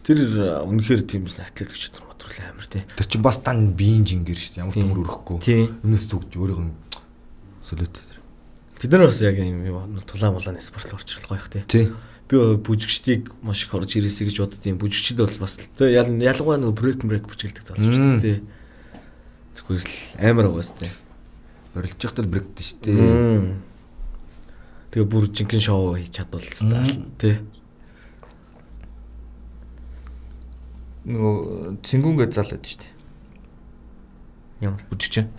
Тэр үнэхээр тийм л атлетик чадвар материал амар тий. Тэр чин бас тань биеийн жингэр шүү дээ. Ямар төмөр өрөхгүй. Өмнөөс зүгж өөрөөр солиод. Тэд нар бас яг юм тулаан мулааны спорт руу орчихлоо их тий. Тий. Би бүжигчдийг маш их орж ирээсэй гэж боддtiin. Бүжигчд бол бас тэ ялангуяа нөгөө брейк брейк бүжгэлдэг залуучууд тий. Зүгээр л амар угаас тий. Орилж явахдаа брейкдэж шүү дээ. Тэгээ бүр жинхэнэ шоу хийж чадвал тий. Нөгөө цингүүнгээ залаад шүү дээ. Ямар бүжигч.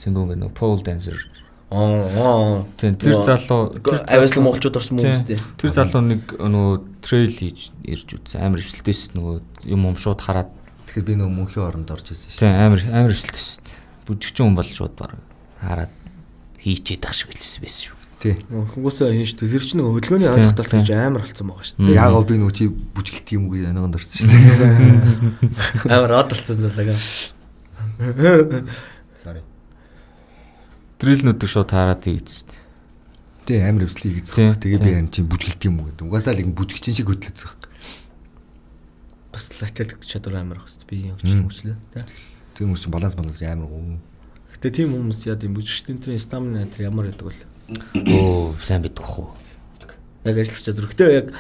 Цингүүнгээ нөгөө pole dancer. Аа тийм тэр залуу тэр авиаслан монголчууд орсон хүмүүс тий. Тэр залуу нэг нөгөө трейл хийж ирж үзсэн. Амар хвшилтэйс нөгөө юм юм шууд хараад. Тэгэхээр би нөгөө мөнхийн оронд орж ирсэн шүү. Тийм амар амар хвшилтэйс. Бүжигчин хүн бол шууд баг хараад хийчээд ах шиг хэлсэн байсан шүү. Тий. Хүмүүсээ хийн шүү. Тэр чинь нөгөө хөдөлгөөний ойлголт гэж амар болсон байгаа шүү. Яагаад би нөгөө чи бүжгэлт юм уу гэж аниганд орсон шүү. Амар одолцсон залгаа. Sorry. Дрилнүүдийг шууд хараад хийгдсэн. Тэ амар өвслийг хийгдсэн. Тэгээ би энэ чинь бүжгэлт юм уу гэдэг. Угаасаа л ингэ бүжгчин шиг хөдлөцсөн хэрэг. Бас атлетик чадвар амар хэвчээ би хөгжлөө хөгжлөө. Тэг хүмүүс чинь баланс баланс амар гоо. Гэтэ тийм хүмүүс яа тийм бүжгчдийн тэр стамина тэр ямар байдаг вэ? Оо сайн бидэх үү. Яг ажиллах чадвар. Гэтэ яг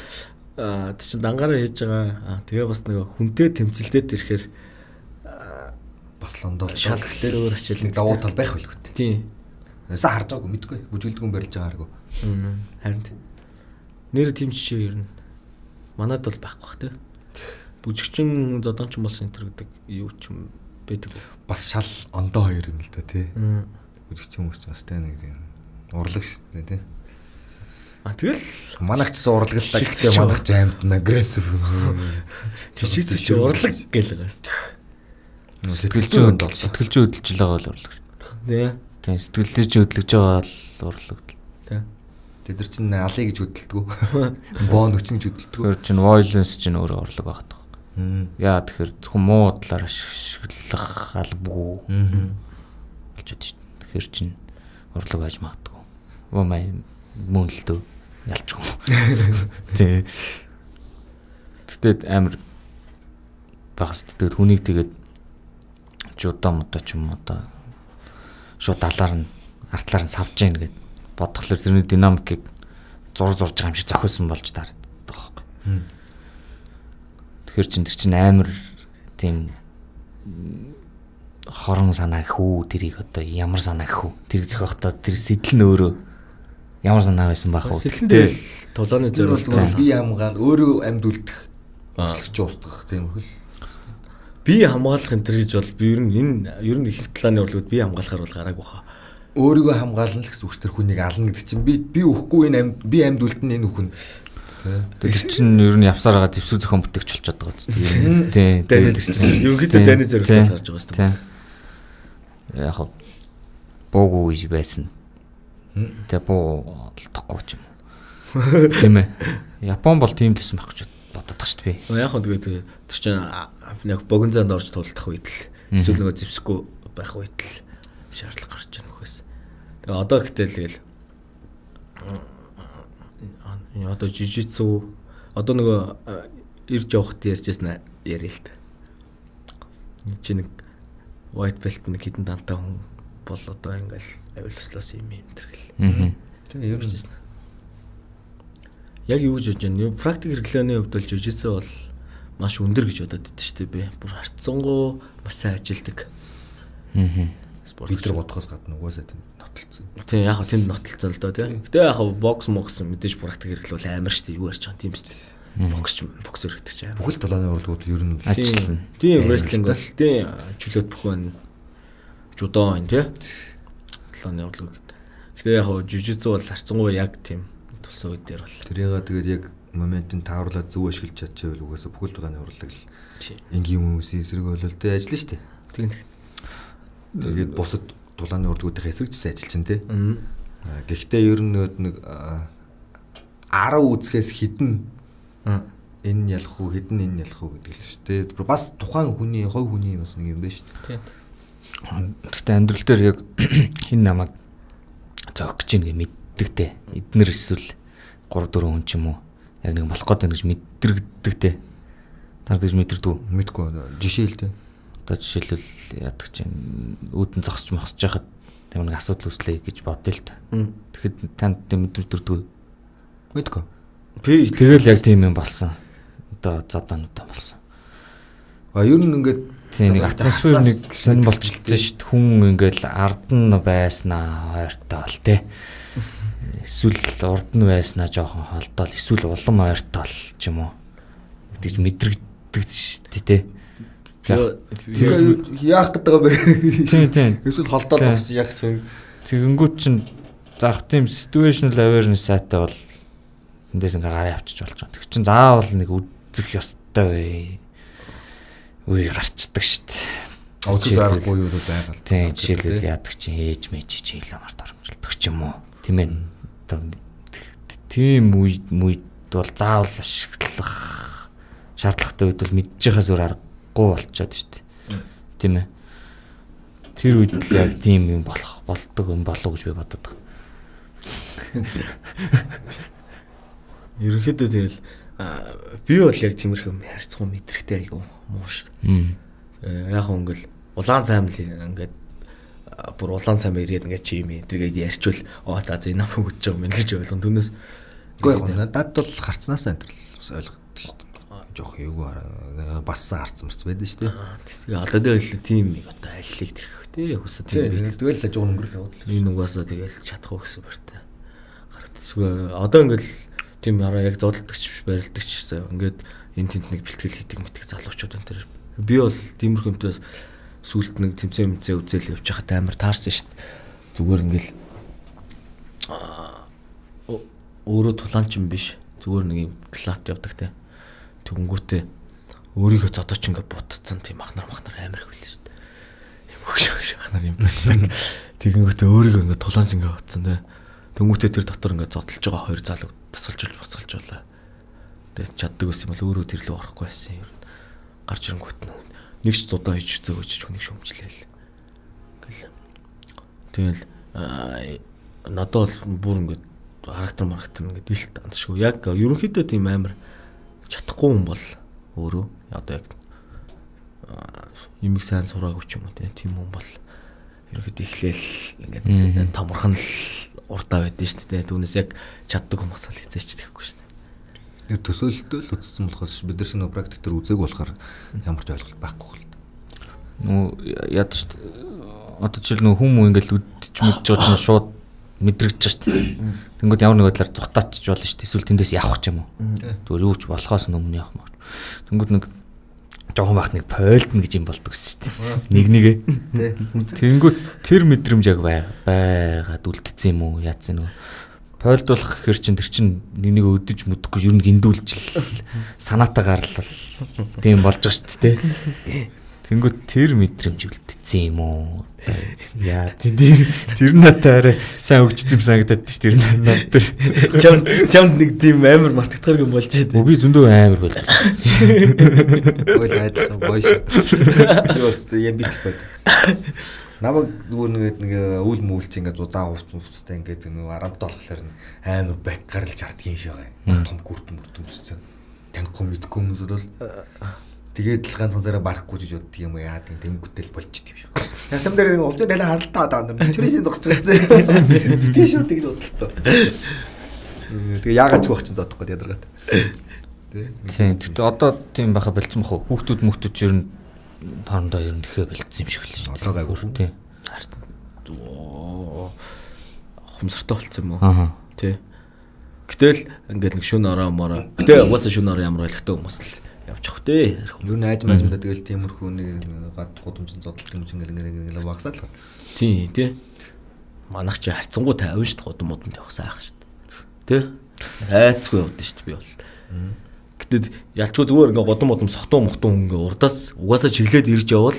тэр чинь дангаараа хийж байгаа. Тэгээ бас нэг хүнтэй тэмцэлдээд ирэхээр бас лондоо шалгал дээр өөр ачаал давуу тал байх байлгүй. Тийм. Яса харж байгаагүй мэдгүй. Бүжгэлдгүн барилж байгаагүй. Аа. Харин нэр тийм жишээ ер нь манад бол байхгүй бах тий. Бүжигчин зодонч болсон энэ төр гэдэг юу ч юм байдаг. Бас шал ондоо хоёр юм л да тий. Бүжигчин хүмүүс ч бас тэ нэг юм урлаг шүү дээ тий. А тэгэл манайч ч урлаглаа гэхдээ манайч аймд агрессив. Жижигс ч урлаг гэл байгаас. Сэтгэлзэн сэтгэлзэн хөдөлж байгаа бол урлаг. Тий. Тийм сэтгэлзэн хөдлөж байгаа бол урлаг. Тий. Тэд нар чинь алий гэж хөдөлдөг. Боо нөчнөж хөдөлдөг. Тэр чинь violence чинь өөрөө урлаг багт. Яа тэгэхээр зөвхөн муу талаар ашиглах албагүй. Болчиход шүү. Тэгэхээр чин урлаг байж магадгүй. Оо май мөн л дөө ялчгүй. Тэ. Тэгтээ амар багс тэгээд хүнийг тэгээд жудаа модоо ч юм одоо шууд далаар нь артлаар нь савж гин гэд бодглохлоор тэрний динамикийг зур зурж байгаа юм шиг зохиосон болж таардаг байхгүй. Тэгэхээр чин тэр чин амар тийм хорон санаа хүү тэрийг одоо ямар санаа хүү тэрийг зохиохдоо тэр сэтэл нь өөрөө ямар санаа байсан байх вэ? Сэтгэл тулааны зориулт бие хамгаал өөрөө амьд үлдэх өсөлтч устгах тийм хөл. Бие хамгаалах энэ төр гэж бол би ер нь энэ ер нь их талааны урлагууд бие хамгаалахаар бол гараагүй хаа. Өөрийгөө хамгаална л гэсэн үг тэр хүнийг ална гэдэг чинь би би өхгүй энэ амьд би амьд үлдэн энэ хүн. Тэр чинь ер нь явсаар байгаа зэвсэг зохион бүтээгч болчиход байгаа үст. Тий. Тэр чинь ерөнхийдөө дайны зориултаас гарч байгаа юм. Яг хоо буугүй байсан. Тэгээ буу олдохгүй ч юм. Тийм ээ. Япон бол тийм лсэн байх гэж боддог шүү дээ би. Яг хөө тэгээд тэр чинь яг богино занд орж тулдах үед л эсвэл нөгөө зэвсэхгүй байх үед л шаардлага гарч ирэх нөхөөс. Тэгээ одоо гэтэл тэгэл одоо жижицүү одоо нөгөө ирж явахд ярьжсэн яриа л та. Чи нэг white belt нэг хитэн дантай хүн бол одоо ингээл авилслаас юм юм тэргэл. Тэгээ ер нь яг юу гэж бодож байна? Практик хэрэглээний хувьд бол жижицүү бол маш өндөр гэж бодоод байдаг шүү дээ би. Бүр харцсангуу маш сайн ажилдаг. Аа. Спорт бид нар бодохоос гадна угаасаа тийм нотолцсон. Тийм яг тэнд нотолцсон л доо тийм. Гэтэ яг бокс мокс мэдээж практик хэрэглэл амар шүү дээ. Юу ярьж байгаа юм тийм шүү дээ. Бокс ч боксер гэдэг чинь амар. Бүхэл талааны урлагууд ер нь ажиллана. Тийм wrestling бол тийм чөлөөт бүхэн жудо энэ тийм. Талааны урлагууд. Гэтэ яг жижицүү бол харцсангуу яг тийм тулсан үед дээр бол. тэрийгээ тэгээд яг моментын тааруулаад зөв ашиглаж чадчихвэл угаасаа бүхэл талааны урлаг л энгийн хүмүүсийн эсрэг болол тэ ажиллана шүү дээ. Тийм. Тэгээд бусад дулааны урлагуудын эсрэгчсэн ажиллаж байна те. Гэхдээ ер нь нэг арав үзэхээс хідэн энэ ялах уу хідэн энэ ялах уу гэдэг л шүү дээ. Бас тухайн хүний хой хүний бас нэг юм байна шүү дээ. Тийм. Гэхдээ амьдрал дээр яг хин намайг зөөх гэж ингэ мэддэгтэй. Эднэр эсвэл гурав дөрөв хүн ч юм уу яг нэг болох гээд байна гэж мэдэрдэгтэй. Та гэж мэдэрдэг үү? Мэдгүй жишээ л дээ. Одоо жишээлбэл яадаг чинь үүдэн зогсож мохсож байхад тэр нэг асуудал үүслэе гэж бодъё л та. Тэгэхэд танд мэдэрдэггүй. Мэдгүй. Би тэгэл яг тийм юм болсон. Одоо зодаануудаа болсон. А ер нь ингээд тийм нэг атмосфер нэг сонир болчихлоо шүү дээ. Хүн ингээл ард нь байснаа ойртоо л те. Эсвэл урд нь байснаа жоохон холдоол, эсвэл улам ойртоо л ч юм уу. Тэгж мэдрэгддэг шүү дээ те. Тэгээд яах гэдэг юм бэ? Тийм тийм. Эсвэл холдоод зогсож яах чинь. Тэгэнгүүт чинь заах тийм situational awareness сайтай бол эндээс ингээ гараа авчиж болж байгаа. Тэг чин заавал нэг үзэх ёстой үе гарчдаг шүү дээ. Оцсон аргагүй юу байгаад. Тийм жишээлбэл яадаг чинь ээж мэж чи хэлэмар дормжилдаг ч юм уу. Тийм ээ. Одоо тийм үе үед бол заавал ашиглах шаардлагатай үед бол мэдж байгаа зүгээр аргагүй болчиход шүү дээ. Тийм ээ. Тэр үед л яг тийм юм болох болдог юм болов гэж би бодод байгаа. Ерөнхийдөө тэгэл би бол яг тиймэрхүү харьцангуй мэдрэгтэй айгу муу шүү дээ. Яг хөнгөл улаан цайм л ингээд бүр улаан цайм ирээд ингээд чи юм тэргээд ярьчвал оо та за энэ нам өгч байгаа юм гэж ойлгон түүнээс үгүй яг надад бол харцнаас энэ бас ойлгодог шүү дээ. Жох юу бассан харцсан марц байдаг шүү дээ. Тэгээ одоо тэгэл тийм нэг одоо аллиг тэрх тий хүсэж тийм би тэгэл л жоо өнгөрөх яваад л энэ угаасаа тэгэл чадах уу гэсэн бартай. Гараад одоо ингээл тийм хараа яг зодтолдогч биш барилдагч ингээд энэ тент нэг бэлтгэл хийдэг мэтг залуучууд энэ төр би бол тиймэрхэмтээс сүулт нэг тэмцээн мцээ үзэл явж хахад амар таарсан шүү дээ. Зүгээр ингээл өөрөө тулаанч юм биш зүгээр нэг юм клапт явдаг те тэгэнгүүтээ өөрийгөө зодооч ингээд ботцсон тийм ахнар махнар амар их байлаа шүү дээ. Юм өгш ахнар юм байдаг. Тэгэнгүүтээ өөрийгөө ингээд тулаанч ингээд ботцсон те тэнгүүтээ тэр дотор ингээд зодтолж байгаа хоёр залуу тасалжуулж босгалж байлаа. Тэгээд чаддаг ус юм бол өөрөө тэр лөө орохгүй байсан юм. Гарч ирэнгүүт нэг ч зудаа хийж зөө гэж хүнийг шөмжлээл. Ингээл. Тэгэл надад бол бүр ингээд характер марктер ингээд илт андшгүй. Яг ерөнхийдөө тийм амар чадахгүй хүн бол өөрөө одоо яг юмэг сайн сураагүй ч юм уу тийм хүн бол ерөнхийдөө эхлээл ингээд томорхон л урдаа байдсан шүү дээ. Түүнээс яг чаддаг хүмүүс бол хэзээ ч тэгэхгүй шүү дээ. Яг төсөөлөлтөө л үзсэн болохоос бид нар шинэ практик дээр үзег болохоор ямар ч ойлголт байхгүй л. Нөө яд шүү дээ. Одоо жишээл нөө хүмүүс ингээд үдчих мэдж байгаа чинь шууд мэдрэгдэж шүү дээ. Тэнгүүд ямар нэг байдлаар зүхтаачих болно шүү дээ. Эсвэл тэндээс явах ч юм уу. Зүгээр юу ч болохоос өмнө явах маа. Тэнгүүд нэг жоохон бахныг пойлдно гэж юм болдог шүү дээ. Нэг нэгэ. Тэнгүүд тэр мэдрэмж яг байгаад үлдсэн юм уу? Яатсан нөө. Пойлдуулах гэхэр чин тэр чин нэг нэг өдөж мүдэхгүй ер нь гиндүүлжил санаатаа гарлал тийм болж байгаа шүү дээ. Тэнгүүд тэр мэдрэмж үлдсэн юм уу? Яа тэр тэр надаараа сайн өгчсөн юм санагдаад ш тэр над тэр чам чам нэг тийм амар мартагдахар юм болж байгаа. Би зөндөө амар болоо. Ой хайдлаа бойш. Юус юм битэх байд. Намаг зүгээр нэг нэг үл мүлч ингээд удаан хувц хувцтай ингээд нэг арамт болохоор амар бак гаралж хардгийн шагаа. Том гүртэн мөртөн зүссэн. Танихгүй мэдгүй хүмүүс бол тэгээд л ганцхан зараа барахгүй гэж боддөг юм яа тийм тэнгүүтэл болчихдээ юм шиг. Ясам дээр нэг увцаа далаа харалтаа даа. Мичрээсийн зогсож байгаа шүү дээ. Битээ шүү тэгж бодлоо. Тэгээ яагаад ч байх чинь зодохгүй ядаргаад. Тийм. Тэгтээ одоо тийм байха болцсон бах уу? Хүүхдүүд мөхтөд ер нь хоорондоо ер нь ихэ болцсон юм шиг л шүү. Одоо гайгүй шүү. Тийм. Хумсартай болцсон юм уу? Тий. Гэтэл ингээд нэг шүн ороо мороо. Гэтэ угаасаа шүн ороо ямар ойлгохтой хүмүүс л явчих дээ. Юу найж маажмдаа тэгэл тиймэрхүү нэг гад гудамжин зодтол юм чинь ингээл ингээл багсаад л. Тий, тий. Манайх чи харцсангуу тавина шүү дээ гудам модонд явах сайхан шүү дээ. Тий. Хайцгүй явдсан шүү дээ би бол. Гэтэл ялчгүй зүгээр ингээ гудам модом сохтуу мохтуу ингээ урдаас угаасаа чиглээд ирж явбал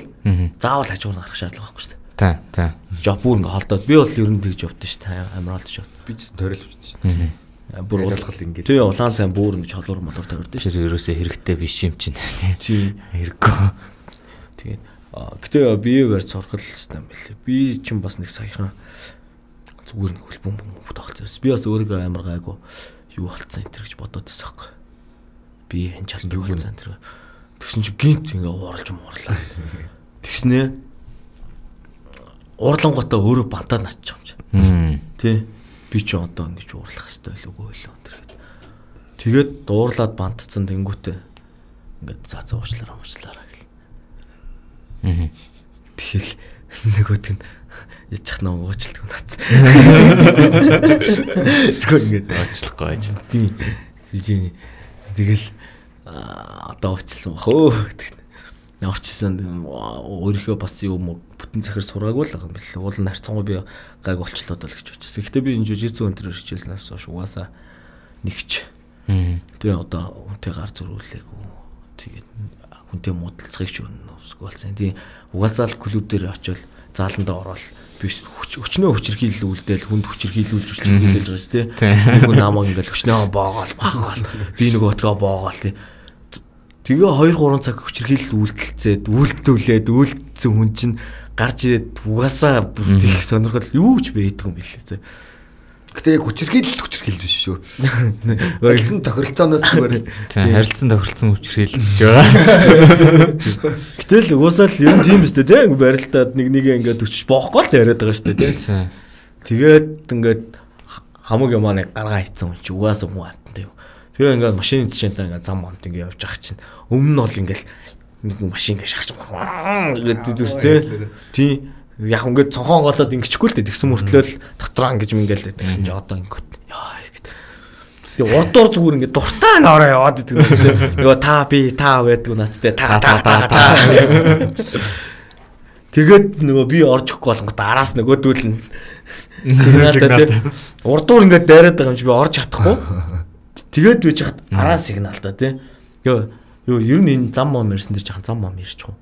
заавал хажуугаар гарах шаардлага байхгүй шүү дээ. Тий, тий. Жоо бүр ингээ холдоод би бол ер нь тэгж явдсан шүү дээ. Амар холдож шат. Би ч тойрол авчихсан шүү дээ. Бүр уулгал ингэ. Тий, улаан цай бүр ингэ холуур молуур тавирдсан шүү. Тэр ерөөсөө хэрэгтэй биш юм чинь. Тий, хэрэггүй. Тэгээд гэтээ бие барьж сурах л юм байлээ. Би чинь бас нэг саяхан зүгээр нэг хөлбөм бөм тогтолцсон. Би бас өөрийгөө амар гайгүй юу болцсон энэ гэж бодоод байсан хэрэг. Би энэ чалт юу болцсон тэр. Тэгсэн чи гинт ингэ ууралж муурлаа. Тэгснээ уурлангуудаа өөрөө бантаад наччих юм чи. Тий. Би ч одоо ингэж уурлах хэрэгтэй л үгүй л өнтер. Тэгээд дуурлаад бантцсан тэнгүүтээ ингээд цаа цаа уучлаараа уучлаараа гэл. Аа. Тэгэл нөгөөт нь ячих нөө уучлалт гэнэц. Зүгээр ингээд уучлахгүй байж. Тийм. Жижиг. Тэгэл одоо уучлсан бах өө. Орчсон өөрийнхөө бас юм бүтэн захир сураагүй л юм бэл. Уул нь харцангуй би гайг болчлоод л гэж бодчихсон. Гэхдээ би энэ жижигсэн өнтер хичээлснээс хойш угаасаа нэгч. Тэгээ одоо хүнтэй гар зөрүүлээгүй. Тэгээд хүнтэй муудалцахыг ч өрнө усгүй болсон. Тийм угаасаа л клуб дээр очивол зааландаа ороод би өчнөө хүчрхийлүүлдээл хүнд хүчрхийлүүлж хүчрхийлж байгаа ч тийм. Нөгөө намайг ингээл өчнөө боогоол баагаал. Би нөгөө өтгөө боогоол тийм. Тэгээ хоёр гурван цаг хүчрхийлэлд үйлдэлцээд үйлдүүлээд үйлдэлсэн хүн чинь гарч ирээд угаасаа бүртэх сонирхол юу ч байдаг юм билээ. Гэтэ яг хүчрхийлэлд хүчрхийлж биш шүү. Харилцан тохиролцооноос зүгээр харилцан тохиролцсон хүчрхийлэлж байгаа. Гэтэл угаасаа л ер нь тийм өстэй тийм барилтаад нэг нэгэ ингээд өчж боохгүй л яриад байгаа шүү дээ тийм. Тэгээд ингээд хамаг юмаа нэг гаргаа хийцэн хүн чи угаасаа хүн арттай юу. Тэгээ ингээд машин эзчэнтэй ингээд зам амт ингээд явж байгаа чинь өмнө нь бол ингээд нэг машин ингээд шахаж гэдэг үстэй. Тийм яг ингээд цонхон голоод ингэчихгүй л дээ тэгсэн мөртлөөл дотроо ингэж мингээл тэгсэн чи одоо ингээд яа гэдэг. Тэгээ урдуур зүгээр ингээд дуртай нороо яваад идэг үстэй. Нөгөө та би та байдаг нацтай та та та та. Тэгээд нөгөө би орж ихгүй болгонгод араас нөгөөдүүл нь сигналтай тийм урдуур ингээд дайраад байгаа юм чи би орж чадахгүй. Тэгээд байж хат араа сигнал та тий. Йоо ёо ер нь энэ зам мом ирсэн дээр жахан зам мом ирчих юм.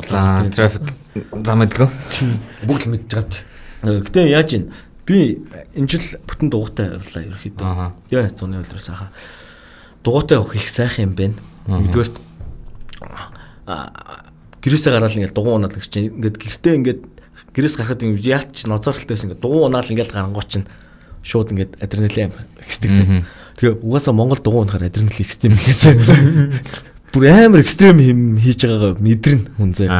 Улаан трафик зам эдлгөө. Бүгд л мэдж байгаа ч. Гэтэ яаж ийн би энэ жил бүтэн дугуйтай явлаа ерөөхдөө. Яа зуны үлрээс хаа. Дугуйтай явах их сайхан юм байна. Нэгдүгээрт гэрээсээ гараал ингээд дугуй унаад гэж чинь ингээд гэртээ ингээд гэрээс гарахад ингэ яач ноцооролтойсэн ингэ дугуй унаал ингээл гарангуй чинь шууд ингээд адреналин экстрим зэ. Тэгээ угаасаа Монгол дугуй унахаар адреналин экстрим гэсэн. Бүр амар экстрим юм хийж байгаагаа мэдэрнэ хүн зэ.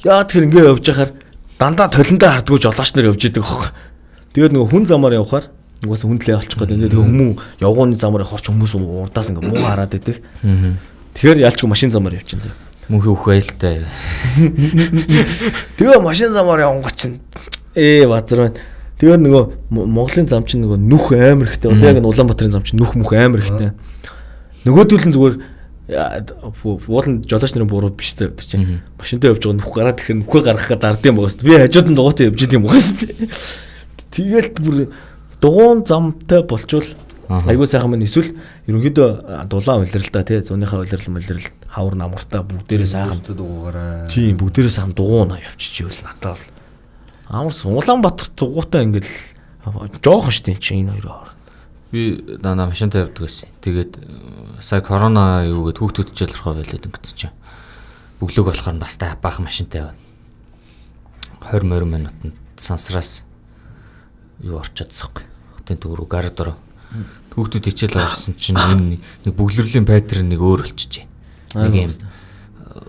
Яа тэгэхээр ингэ явж байхаар дандаа толиндоо хардгуу жолооч нар явж идэг аахгүй. Тэгээд нөгөө хүн замаар явхаар угаасаа хүндлээ олчих гээд тэгээ хүмүүн явгооны замаар хорч хүмүүс урдаас ингэ муу хараад идэг. Тэгэхээр ялчгүй машин замаар явчихсан зэ. Мөнхий үх байлтай. Тэгээ машин замаар явгон чинь ээ базар байна. Тэгээд нөгөө Монголын зам чинь нөгөө нүх амар ихтэй. Одоо яг Улаанбаатарын зам чинь нүх мөх амар ихтэй. Нөгөөдөл нь зүгээр уулын жолооч нарын буруу биш зэ өдөр чинь. Машинтай явж байгаа нүх гараад ихээр нүхээ гаргах гээд ардын байгаас. Би хажууд нь дугуйтай явж идэм байгаас. Тэгээд бүр дугуун замтай болчвол айгуу сайхан мань эсвэл ерөнхийдөө дулаан улирал да тий зуныхаа улирал улирал хавар намартаа бүгдээрээ сайхан дугуугаараа. Тийм бүгдээрээ сайхан дугуунаа явчихживэл надад бол Амарс Улаанбаатар дугуйтай ингээл жоохон штий чи энэ хоёроо. Би дана машинтай явдаг байсан. Тэгээд сая корона юу гэд хүүхдүүд ч ялрахаа байлаад ингэсэн чинь. Бүглөг болохоор бас та баахан машинтай явна. двадцать минутанд сансраас юу орчиходсохгүй. Хотын төв рүү гар дөрөө. Хүүхдүүд хичээл орсон чинь энэ нэг бүглэрлийн паттерн нэг өөр болчихжээ. Нэг юм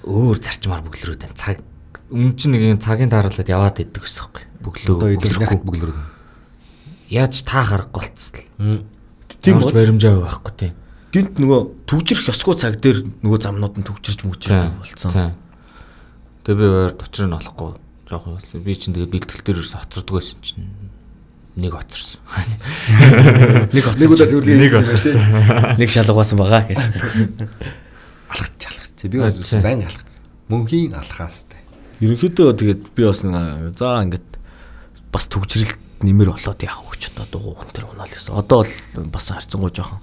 өөр зарчмаар бүглэрүүд байна. Цаг өмнө чинь нэг юм цагийн тааруулаад яваад иддэг гэсэн юм байна. Бүглөө. Одоо идэх бүглэрүүд. Яаж та харахгүй болцсон. Тийм ч баримжаа байхгүй тийм. Гинт нөгөө төвжирх ёсгүй цаг дээр нөгөө замнууд нь төвжирч мүжирдэг болцсон. Тэгээ би өөр тучрыг нь олохгүй жоохон би чинь тэгээ бэлтгэл дээр ерөөс хоцордог байсан чинь нэг хоцорсон. Нэг хоцорсон. Нэг удаа зөвлөе. Нэг хоцорсон. Нэг шалгуулсан байгаа гэж. Алхаж алхаж. Би бол байн алхаж. Мөнхийн алхаастай. Ерөнхийдөө тэгээд би бас нэг за ингээд бас төвжрэлт нэмэр болоод яах вэ ч одоо дугуй тэр унаал гэсэн. Одоо бол бас харцангуй жоохон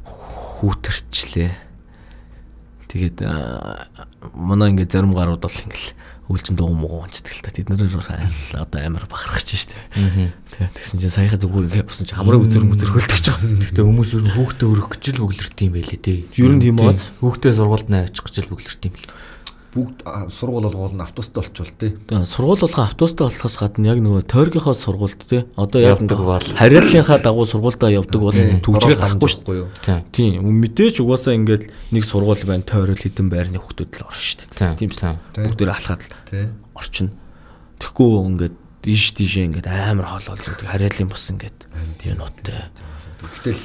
хүүтэрчлээ. Тэгээд манай ингээд зарим гарууд бол ингээл үлжин дугуй муугаа унцдаг л та. Тэд нэр одоо амар бахархаж штэ. Тэгээд тэгсэн чинь саяхан зүгээр ингээд бусан чинь хамраа үзэр мүзэр хөлдөж байгаа. Гэтэ хүмүүс ер нь хүүхдээ өрөх гэж л бүглэрт юм байлээ дээ. Ер нь тийм бааз. Хүүхдээ сургуульд нь очих гэж л бүглэрт юм л. Бүгд сургууль болгоол нь автобустай болчихвол тий. Тэгээ сургууль болгоо автобустай болохоос гадна яг нөгөө тойргийнхоо сургуульд тий. Одоо яг явдаг бол харьяаллынхаа дагуу сургуульдаа явдаг бол төвжрэг гарахгүй шүү дээ. Тийм. Мэдээж угаасаа ингээд нэг сургууль байна, тойрол хідэн байрны хүүхдүүд л орно шүү дээ. Тийм шүү. Бүгдээр алхаад л орчин. Тэгэхгүй ингээд ийш тийшээ ингээд амар хоол болж байгаа харьяалын бус ингээд тийм нуттай. Гэтэл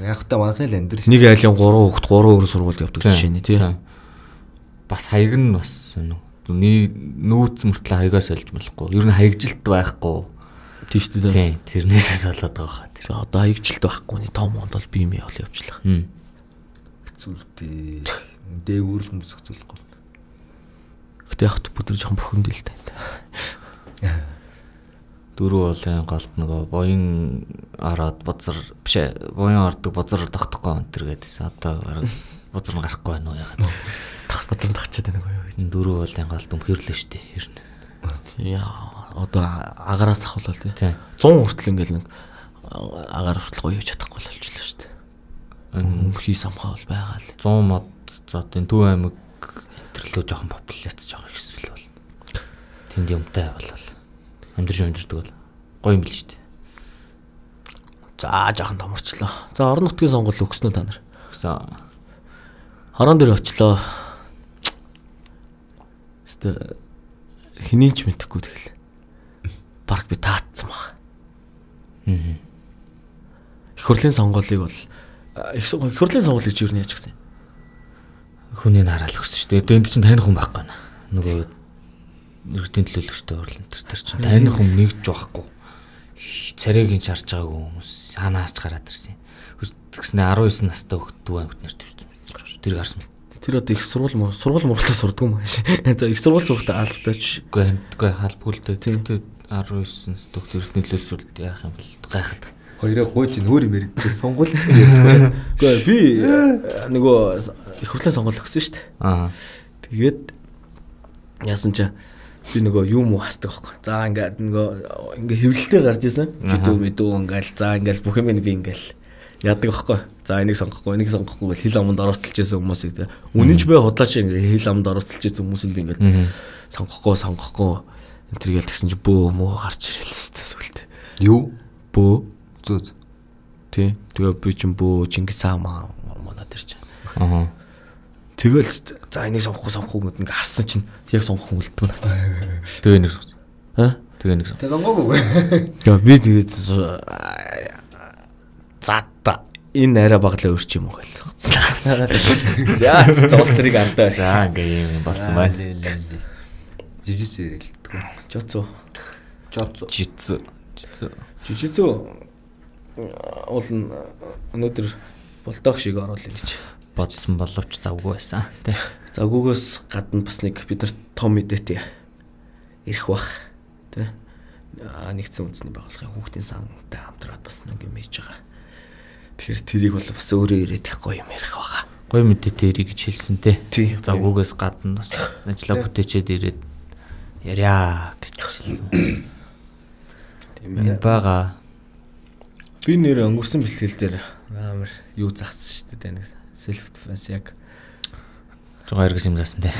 яг та манайх л амьдрс. Нэг айлын гурван хүүхд гурван өөр сургуульд явдаг жишээ нь тий. Бас хаяг нь бас нүүц мөртлөө хаягаас олж болохгүй. Ер нь хаягжилт байхгүй. Тийш үү? Тийм. Тэрнээсээс болоод байгаа хаа. Тэр одоо хаягжилт байхгүй ний том монд бол бие мэй ол явуулах. Зүгтээ. Дээгүүр л зүгцүүлэхгүй. Гэтэ яг бүгд жоохон бөхөндөл тань. Дөрөв болын галт нөгөө боён араад бозар биш ээ. Боён ордог бозар тогтохгүй энэ төр гэдээсэн. Одоо бозар нь гарахгүй байна уу яагаад. Бадрын тагчаад байна гоё гэж. Дөрөв болын галт өмхөрлөө штэ ер нь. Яа одоо агараас ахвал тий. цун хүртэл ингээл нэг агаар хүртэл гоё хийж чадахгүй болчихлоо штэ. Өмхий самхаа бол байгаа л. цун мод за энэ Төв аймаг төрлөө жоохон популяц жоохон ихсэл бол. Тэнд юмтай болол. Амьдрж амьдрдаг бол гоё юм бил штэ. За жоохон томорчлоо. За орон нутгийн сонгуул өгснөө та нар. Өгсөн. Хорон дээр очлоо. Тэ хэний ч мэдхгүй тэгэл. Бараг би таацсан баг. Аа. Их хурлын сонгуулийг бол их хурлын сонгуулийг юу яаж гисэн? Хүний нараал өгсөн шүү дээ. Энд чинь таних хүн байхгүй наа. Нөгөө иргэдийн төлөөлөгчтэй хурлын тэр тэр чинь таних хүн нэгж байхгүй. Царайг ин шарж байгаагүй хүмүүс санаас ч гараад ирсэн. Тэгснэ десять настай хөлт дүү амьд нарт тавьсан. Тэр гарсан. Тэр одоо их сургууль сургууль муралтаа сурдаг юм ааш. За их сургууль сурахтаа албатаач. Үгүй амтгүй халбгүйлтэй. Тэгтээ десять настай хөлт нөлөөлсөд яах юм бэл гайхаад. Хоёроо гойж нөр юм ярьдаг сонгуул. Үгүй би нөгөө их хурлын сонгуул өгсөн шүү дээ. Аа. Тэгээд яасан ч би нөгөө юм уу хасдаг байхгүй. За ингээд нөгөө ингээ хэвлэлээр гарч исэн. Жидүү мэдүү ингээл за ингээл бүх юм би ингээл яадаг байхгүй. За энийг сонгохгүй, энийг сонгохгүй гэл хил аманд орооцолж байсан хүмүүсийг үнэн ч бай худлаач ингээ хил аманд орооцолж байсан хүмүүсийг би ингээл сонгохгүй, сонгохгүй тэргээл тэгсэн чи бөө мөө гарч ирэл хэвчээ сүлдээ. Юу? Бөө Зөө. тий. Тэгээ би ч бөө Чингис хаан манай тэр чинь. Аа. Тэгэл за энийг сонгохгүй сонгохгүй гэдэг ингээ хассан чинь яг сонгох хүн үлддэг нэ. Тэгээ нэг. Аа? Тэгээ нэг. Тэ сонгоогүй. Яа би тэгээд за та энэ арай баглаа өрч юм уу гэж. За цус тэрийг андаа. За ингээ юм болсон байна. Жижигс ярилтгүй. Жоцоо. Жоцоо. Жицүү. Жицүү. Жижигзүү уул өнөөдөр болдоох шиг оруулъя гэж Бодсон боловч завгүй байсан тий. Завгүйгээс гадна бас нэг бид нар том мэдээтэй ирэх бах тий. Нэгдсэн үндэсний байгууллагын хүүхдийн сантай хамтраад бас нэг юм хийж байгаа. Тэгэхээр тэрийг бол бас өөрөө ирээд их гоё юм ярих баха. Гоё мэдээтэй ирэх гэж хэлсэн тий. Тий. Завгүйгээс гадна бас ажилла бүтээчээд ирээд яриа гэж хэлсэн. Тийм бага. Би нэр өнгөрсөн бэлтгэл дээр амар юу заасан шүү дээ нэг self defense яг жоо эргэс юм заасан тий.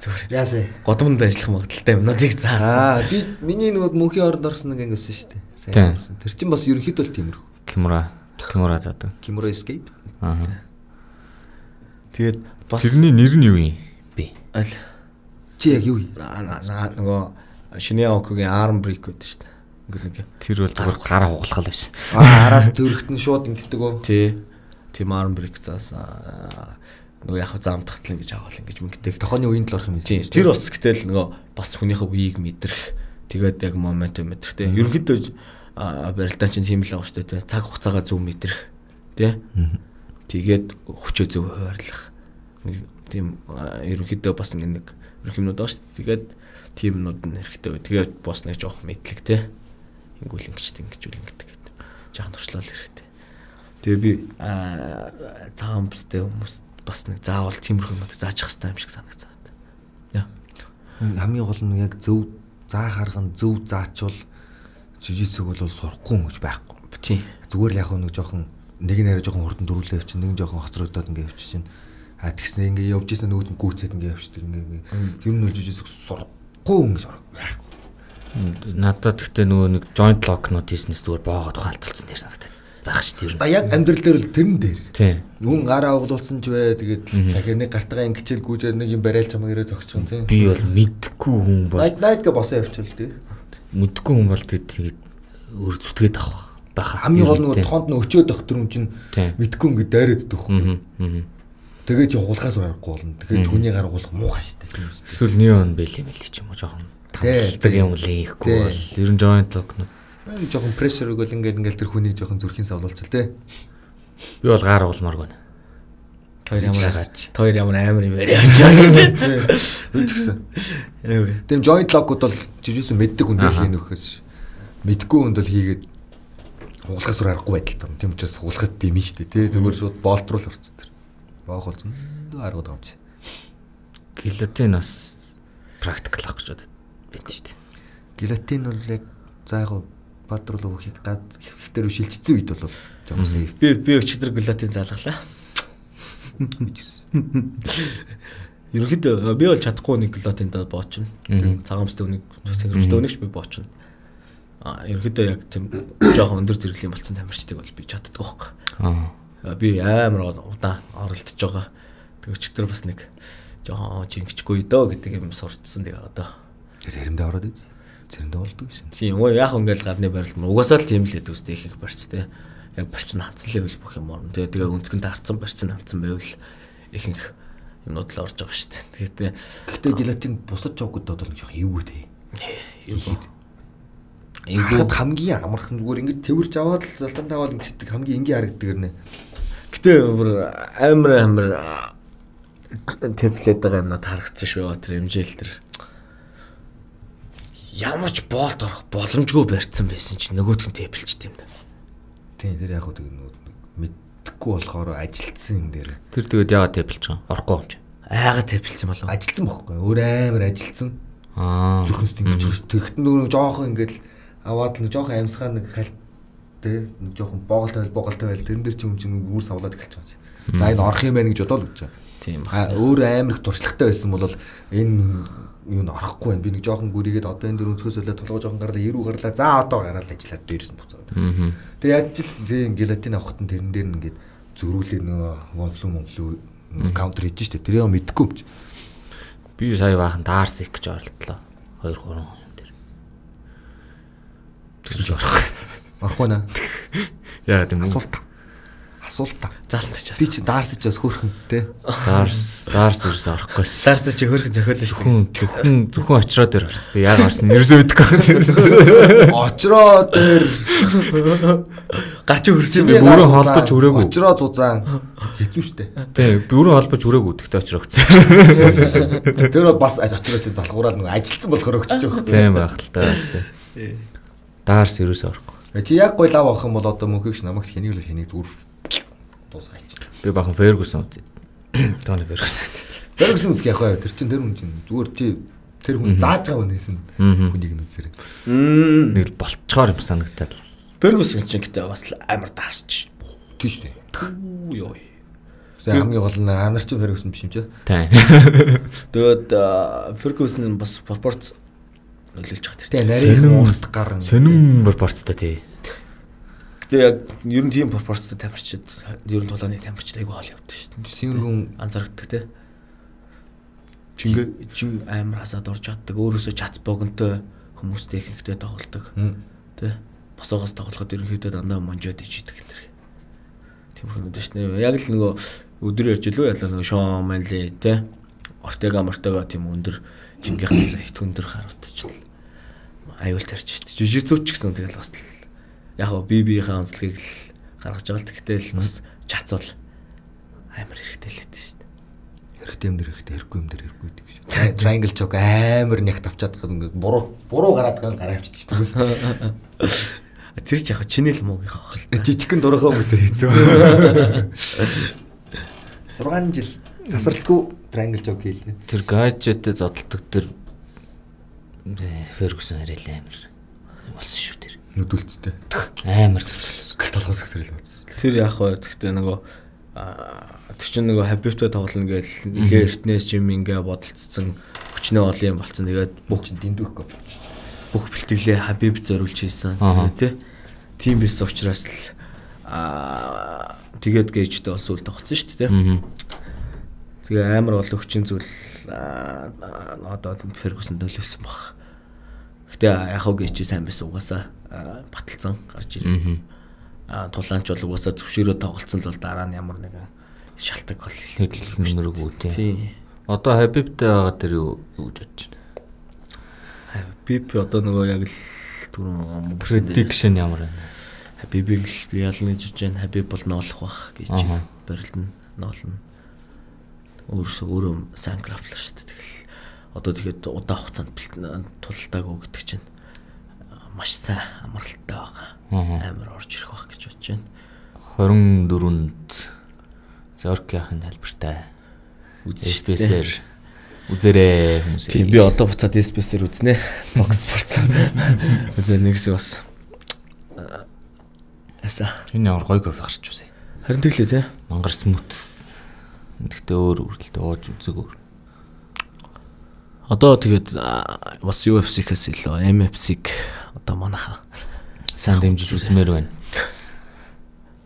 зүгээр. Яасэ. Годомд ажиллах магадaltaй юмнуудыг заасан. Аа би миний нөгөө мөнхийн орнд орсон нэг ингэсэн шүү дээ. Сайн орсон. Тэр чинь бас ерөнхийдөө л тиймэрхүү. Кимура, Кимура заадаг. Kimura Escape. Аа. Тэгээд бас тэрний нэр нь юу юм бэ? аль Чи яг юу? нөгөө шинэ окогийн arm break гэдэг шүү дээ. Ингээд нэг. Тэр бол зүгээр гараа хугалах байсан. Аа араас төрөхтөн шууд ингэдэг үү? Тий. Тим arm break заасан. Нөгөө яг заамтахтал ингэж аваал ингэж мөнгөтэй. Тохооны үеинд л орох юм Тийм. Тэр бас гэтэл нөгөө бас хүнийхээ үеийг мэдрэх. Тэгээд яг моментум мэдрэх тийм. Ерөнхийдөө барилдаан чинь тийм л байгаа шүү дээ. Цаг хугацаагаа зөв мэдрэх. Тий. Тэгээд хүчөө зөв хуваарлах. Тийм ерөнхийдөө бас нэг ерөнх юмнууд байгаа шүү дээ. Тэгээд тиймнүүд нь хэрэгтэй. Тэгээд бас нэг жоох мэдлэг тий. Ингүүл ингэж ингэж үл ингэдэг гэдэг. Жаахан туршлал хэрэгтэй. Тэгээ би цагаан бүстэй хүмүүс бас нэг заавал тиймэрхүү юмнууд зааж явах хэрэгтэй юм шиг санагцаад. Яа. Хамгийн гол нь яг зөв заах арга нь зөв заачвал жижигсэг бол сурахгүй юм гэж байхгүй. Тийм. Зүгээр л яг нэг жоохон нэг нь арай жоохон хурдан дөрүүлээ явчих, нэг нь жоохон хоцрогдоод ингээ явчих чинь. А тэгснэ ингээ явж ийсэн нөгөөд нь гүйцээд ингээ явчихдаг ингээ ингээ. Юм нь бол жижигсэг сурахгүй юм гэж байхгүй. Надад гэхдээ нөгөө нэг joint lock-нууд хийснээс зүгээр боогод ухаалталцсан дээр санагдаад байх шүү дээ. А яг амьдрал дээр л тэрэн дээр. Тийм. Хүн гараа угдуулсан ч вэ тэгээд дахиад нэг гартагаа ингэчээл гүйжээр нэг юм барайл чамаа ирээ зогсчихсон тийм. Би бол мэдхгүй хүн бол Night night гэ босоо явчихвал тий. мэдхгүй хүн бол тэгээд өөр зүтгээд авах байхаа. Хамгийн гол нөгөө тоонд нь өчөөд байх төрөм чинь мэдхгүй ингэ дайраад идэх байхгүй. Тэгээд чи хулгаас урахгүй болно. Тэгээд хүний гар угуулах муухай штэ тийм үү. Эсвэл неон бэл юм л ч юм уу жоохон тамтдаг юм лээхгүй бол ер нь joint lock-нууд нэг жоохон pressure өгөл ингээл ингээл тэр хүнийг жоохон зүрхийн савлуулж тий. Би бол гар уулмааргүй. Тэр ямар тэр ямар амар юм яриач гэсэн. Үчгсэн. Тийм joint lock-ууд бол жижигсэн мэддэг хүн дээр хийн нөхөөс мэдгүй хүнд бол хийгээд хугалахаас өөр аргагүй байдалтай юм. Тийм учраас хугалахад тийм шүү дээ тий. Зүгээр шууд болт руу л орцсон тэр. Боох болсон. Дөө аргууд байгаа юм чи. Гелатин бас практикл авах гэж бодод байна шүү дээ. Гелатин бол яг за яг бад руу өгөхийг гад ихтер шилжчихсэн үед бол жоохон сейф. Би би өчигдөр гелатин заалгалаа. Ерөнхийдөө би бол чадахгүй нэг гелатиндаа боочно. Цагаан бүстэй үнийг синхрончтой үнэгч би боочно. А ерөнхийдөө яг тийм жоохон өндөр зэрэглэлийн болсон тамирчдыг бол би чаддаг байхгүй. Аа. Би амар удаан оролдож байгаа. Тэг өчигдөр бас нэг жоохон жингчгүй дөө гэдэг юм сурцсан тэгээ одоо. Заримдаа ороод из. Заримдаа болдгоо гэсэн. Тийм уу яг ингээл гарны барилт мөн угаасаа л тийм л хэд үстэй их их барьцтай. Яг барьцсан ханцсан левел бүх юм орно. Тэгээ тэгээ өнцгөнд харцсан барьцсан ханцсан байвал ихэнх юмнууд л орж байгаа шүү дээ. Тэгээд гэхдээ гелатин бусад жогод бол жоох эвгүй тий. Эвгүй. Эвгүй хамгийн амархан зүгээр ингэ тэрж аваад л залтан таваад ингэдэг хамгийн энгийн харагддаг гэрнэ. Гэтэ амар амар темплейт байгаа юмнууд харагдсан шүү. Тэр хэмжээл тэр ямар ч болт орох боломжгүй барьцсан байсан чинь нөгөөдх нь тэпэлчтэй юм да. Тийм тэр яг нэг мэдхгүй болохоор ажилтсан юм дээр. Тэр тэгээд яагаад тэпэлж байгаа? Орохгүй юм чи. Айгаад тэпэлсэн болов. Ажилтсан бохгүй. Өөр амар ажилтсан. Аа. Зүрхэнс ингэж тэгт нэг жоохон ингээл аваад нэг жоохон амьсгаа нэг халт тэр нэг жоохон боголтой байл боголтой байл тэрэн дээр чи юм чинь үүр савлаад эхэлж байгаа чи. За энэ орох юм байна гэж бодоод өгч байгаа. Тийм. Өөр амар их туршлагатай байсан бол энэ юу н орохгүй байна. Би нэг жоохон гүрийгээд одоо энэ дөр өнцгөөс олоо толгой жоохон гарлаа, эрүү гарлаа. За одоо гараад ажиллаад дээрээс нь буцаад. Тэгээ яаж ч л гелатин авахтан тэрэн дээр нь ингээд зөрүүлээ нөгөө вонфлу монфлу каунтер хийж штэ. Тэрийг мэдэхгүй юм чи. Би сая баахан даарс их гэж оролдлоо. хоёр гурван хүн дээр. Тэгж орох. Орохгүй наа. Яа гэм асуулт. Асуулт. Залтчих. Би чи даарсаж бас хөөрхөнтэй. Даарс, даарс ерөөс орохгүй. Даарс чи хөөрхөн зохиолоо шүү. Зөвхөн зөвхөн зөвхөн очроо дээр орсон. Би яг орсон ерөөсөө мэдэхгүй. Очроо дээр гарч хөрсөн би бүрэн холбож хүрээгүй. Очроо зузаан хэцүү штэ. Тий, бүрэн холбож хүрээгүй. Тэгтээ очроо өгсөн. Тэр бас очроо чи залхуураад нөгөө ажилтсан болохоор өгчөж байгаа. Тийм байх л таа штэ. Даарс ерөөсөө орохгүй. Чи яг гой лав авах юм бол одоо мөнхийгч намайг хэнийг л хэнийг зүгээр дуусгаач. Би бахан Фергюсон үү. Тони Фергюсон. Фергюсон үзэх яг бай. Тэр чин тэр хүн чин зүгээр чи тэр хүн зааж байгаа хүнээс нь хүнийг нь үзээрэй. Нэг л болцохоор юм санагдаад. Фергюсон чинь гэдэг бас амар даарч. Тийш үү. Йоо. Тэгээ хамгийн гол нь анар чин Фергюсон биш юм чи. Тийм. Тэгээд Фергюсон бас пропорц нөлөөлж байгаа тийм. Нарийн урт гар сонин пропорцтой тий. Гэтэ яг ер нь тийм пропорцтой тамирчид ер нь тулааны тамирчид айгүй хоол явдаг шүү дээ. Тийм хүн анзаардаг те. Чингээ чин амар хасаад орж чаддаг. Өөрөөсөө чац богонтой хүмүүстэй ихэнхдээ тоглодог. Тэ. Босоогоос тоглоход ерөнхийдөө дандаа монжоод ижидэг гэнтэр. Тийм хүмүүс шүү дээ. Яг л нөгөө өдөр ярьж илүү ялаа нөгөө Шон Манли те. Ортега мортега тийм өндөр чингийнхнаас их өндөр харагдчихлаа. Аюул тарьж шүү дээ. Жижигцүүч гэсэн тэгэл бас яг гоо би биеийнхээ онцлогийг л гаргаж байгаа л тэгтээ л бас чацвал амар хэрэгтэй л гэдэг шүү дээ. Хэрэгтэй юм дээр хэрэгтэй, хэрэггүй юм дээр хэрэггүй гэдэг шүү. Triangle choke амар нягт авчаад байгаа ингээд буруу буруу гараад байгаа гараа авчиж байгаа. Тэр ч яг чиний л муугийнхаа баг. Жижигхэн дурахаа хүмүүстэй хийцүү. зургаан жил тасралтгүй triangle choke хийлээ. Тэр гаджеттэй зодтолдог тэр Фергюсон арай л амар болсон шүү тэр. Нүдүүлцтэй. Амар зүтгэлсэн. Толгоос гисрэл болсон. Тэр яг хоо гэхдээ нөгөө тэр чинь нөгөө Хабибтэй тоглоно гээл нилээ эртнээс чим ингээ бодолцсон хүчнээ олон юм болцсон. Тэгээд бүх чинь дэндүүх кофе авчиж. Бүх бэлтгэлээ Хабиб зориулж хийсэн. Тэгээд тий. Тим бис учраас л аа тэгээд гейжтэй бас үл тоглосон шүү дээ тий. Тэгээ амар бол өгчин зүйл одоо Фергюсон нөлөөсөн баг. Гэтэ яг хоо гейч сайн байсан угаасаа баталсан гарч ирээ. Аа тулаанч бол угаасаа зөвшөөрөө тоглолцсон л бол дараа нь ямар нэгэн шалтгаан бол хэлэх нэмэргүй тий. Тий. Одоо Хабибтэй байгаа тэр юу гэж бодож байна? Хабиб одоо нөгөө яг л түрүүн prediction ямар байна? Хабибийг л би ялна гэж бодож байна. Хабиб бол ноолох бах гэж барилна, ноолно. Өөрөөсөө өөрөө сайн графлаа шүү дээ. Тэгэл одоо тэгээд удаан хугацаанд тултаагүй гэдэг чинь маш сайн амралттай байгаа. Амар орж ирэх байх гэж бодож байна. хорин дөрөнд Зорки ахын тайлбартай үзэжпэсэр үзэрээ хүмүүс. Тийм би одоо буцаад эспэсэр үзнэ. Бокс спорт. Үзээ нэгс бас. Аса. Энэ ямар гоё кофе гарч үзье. Харин тэглээ те. Мангар смут. Тэгтээ өөр үрдэлтэй ууж үзэг өөр. Одоо тэгээд бас ю эф си-хээс илүү эм эф си-г одоо манайха сайн дэмжиж үзмээр байна.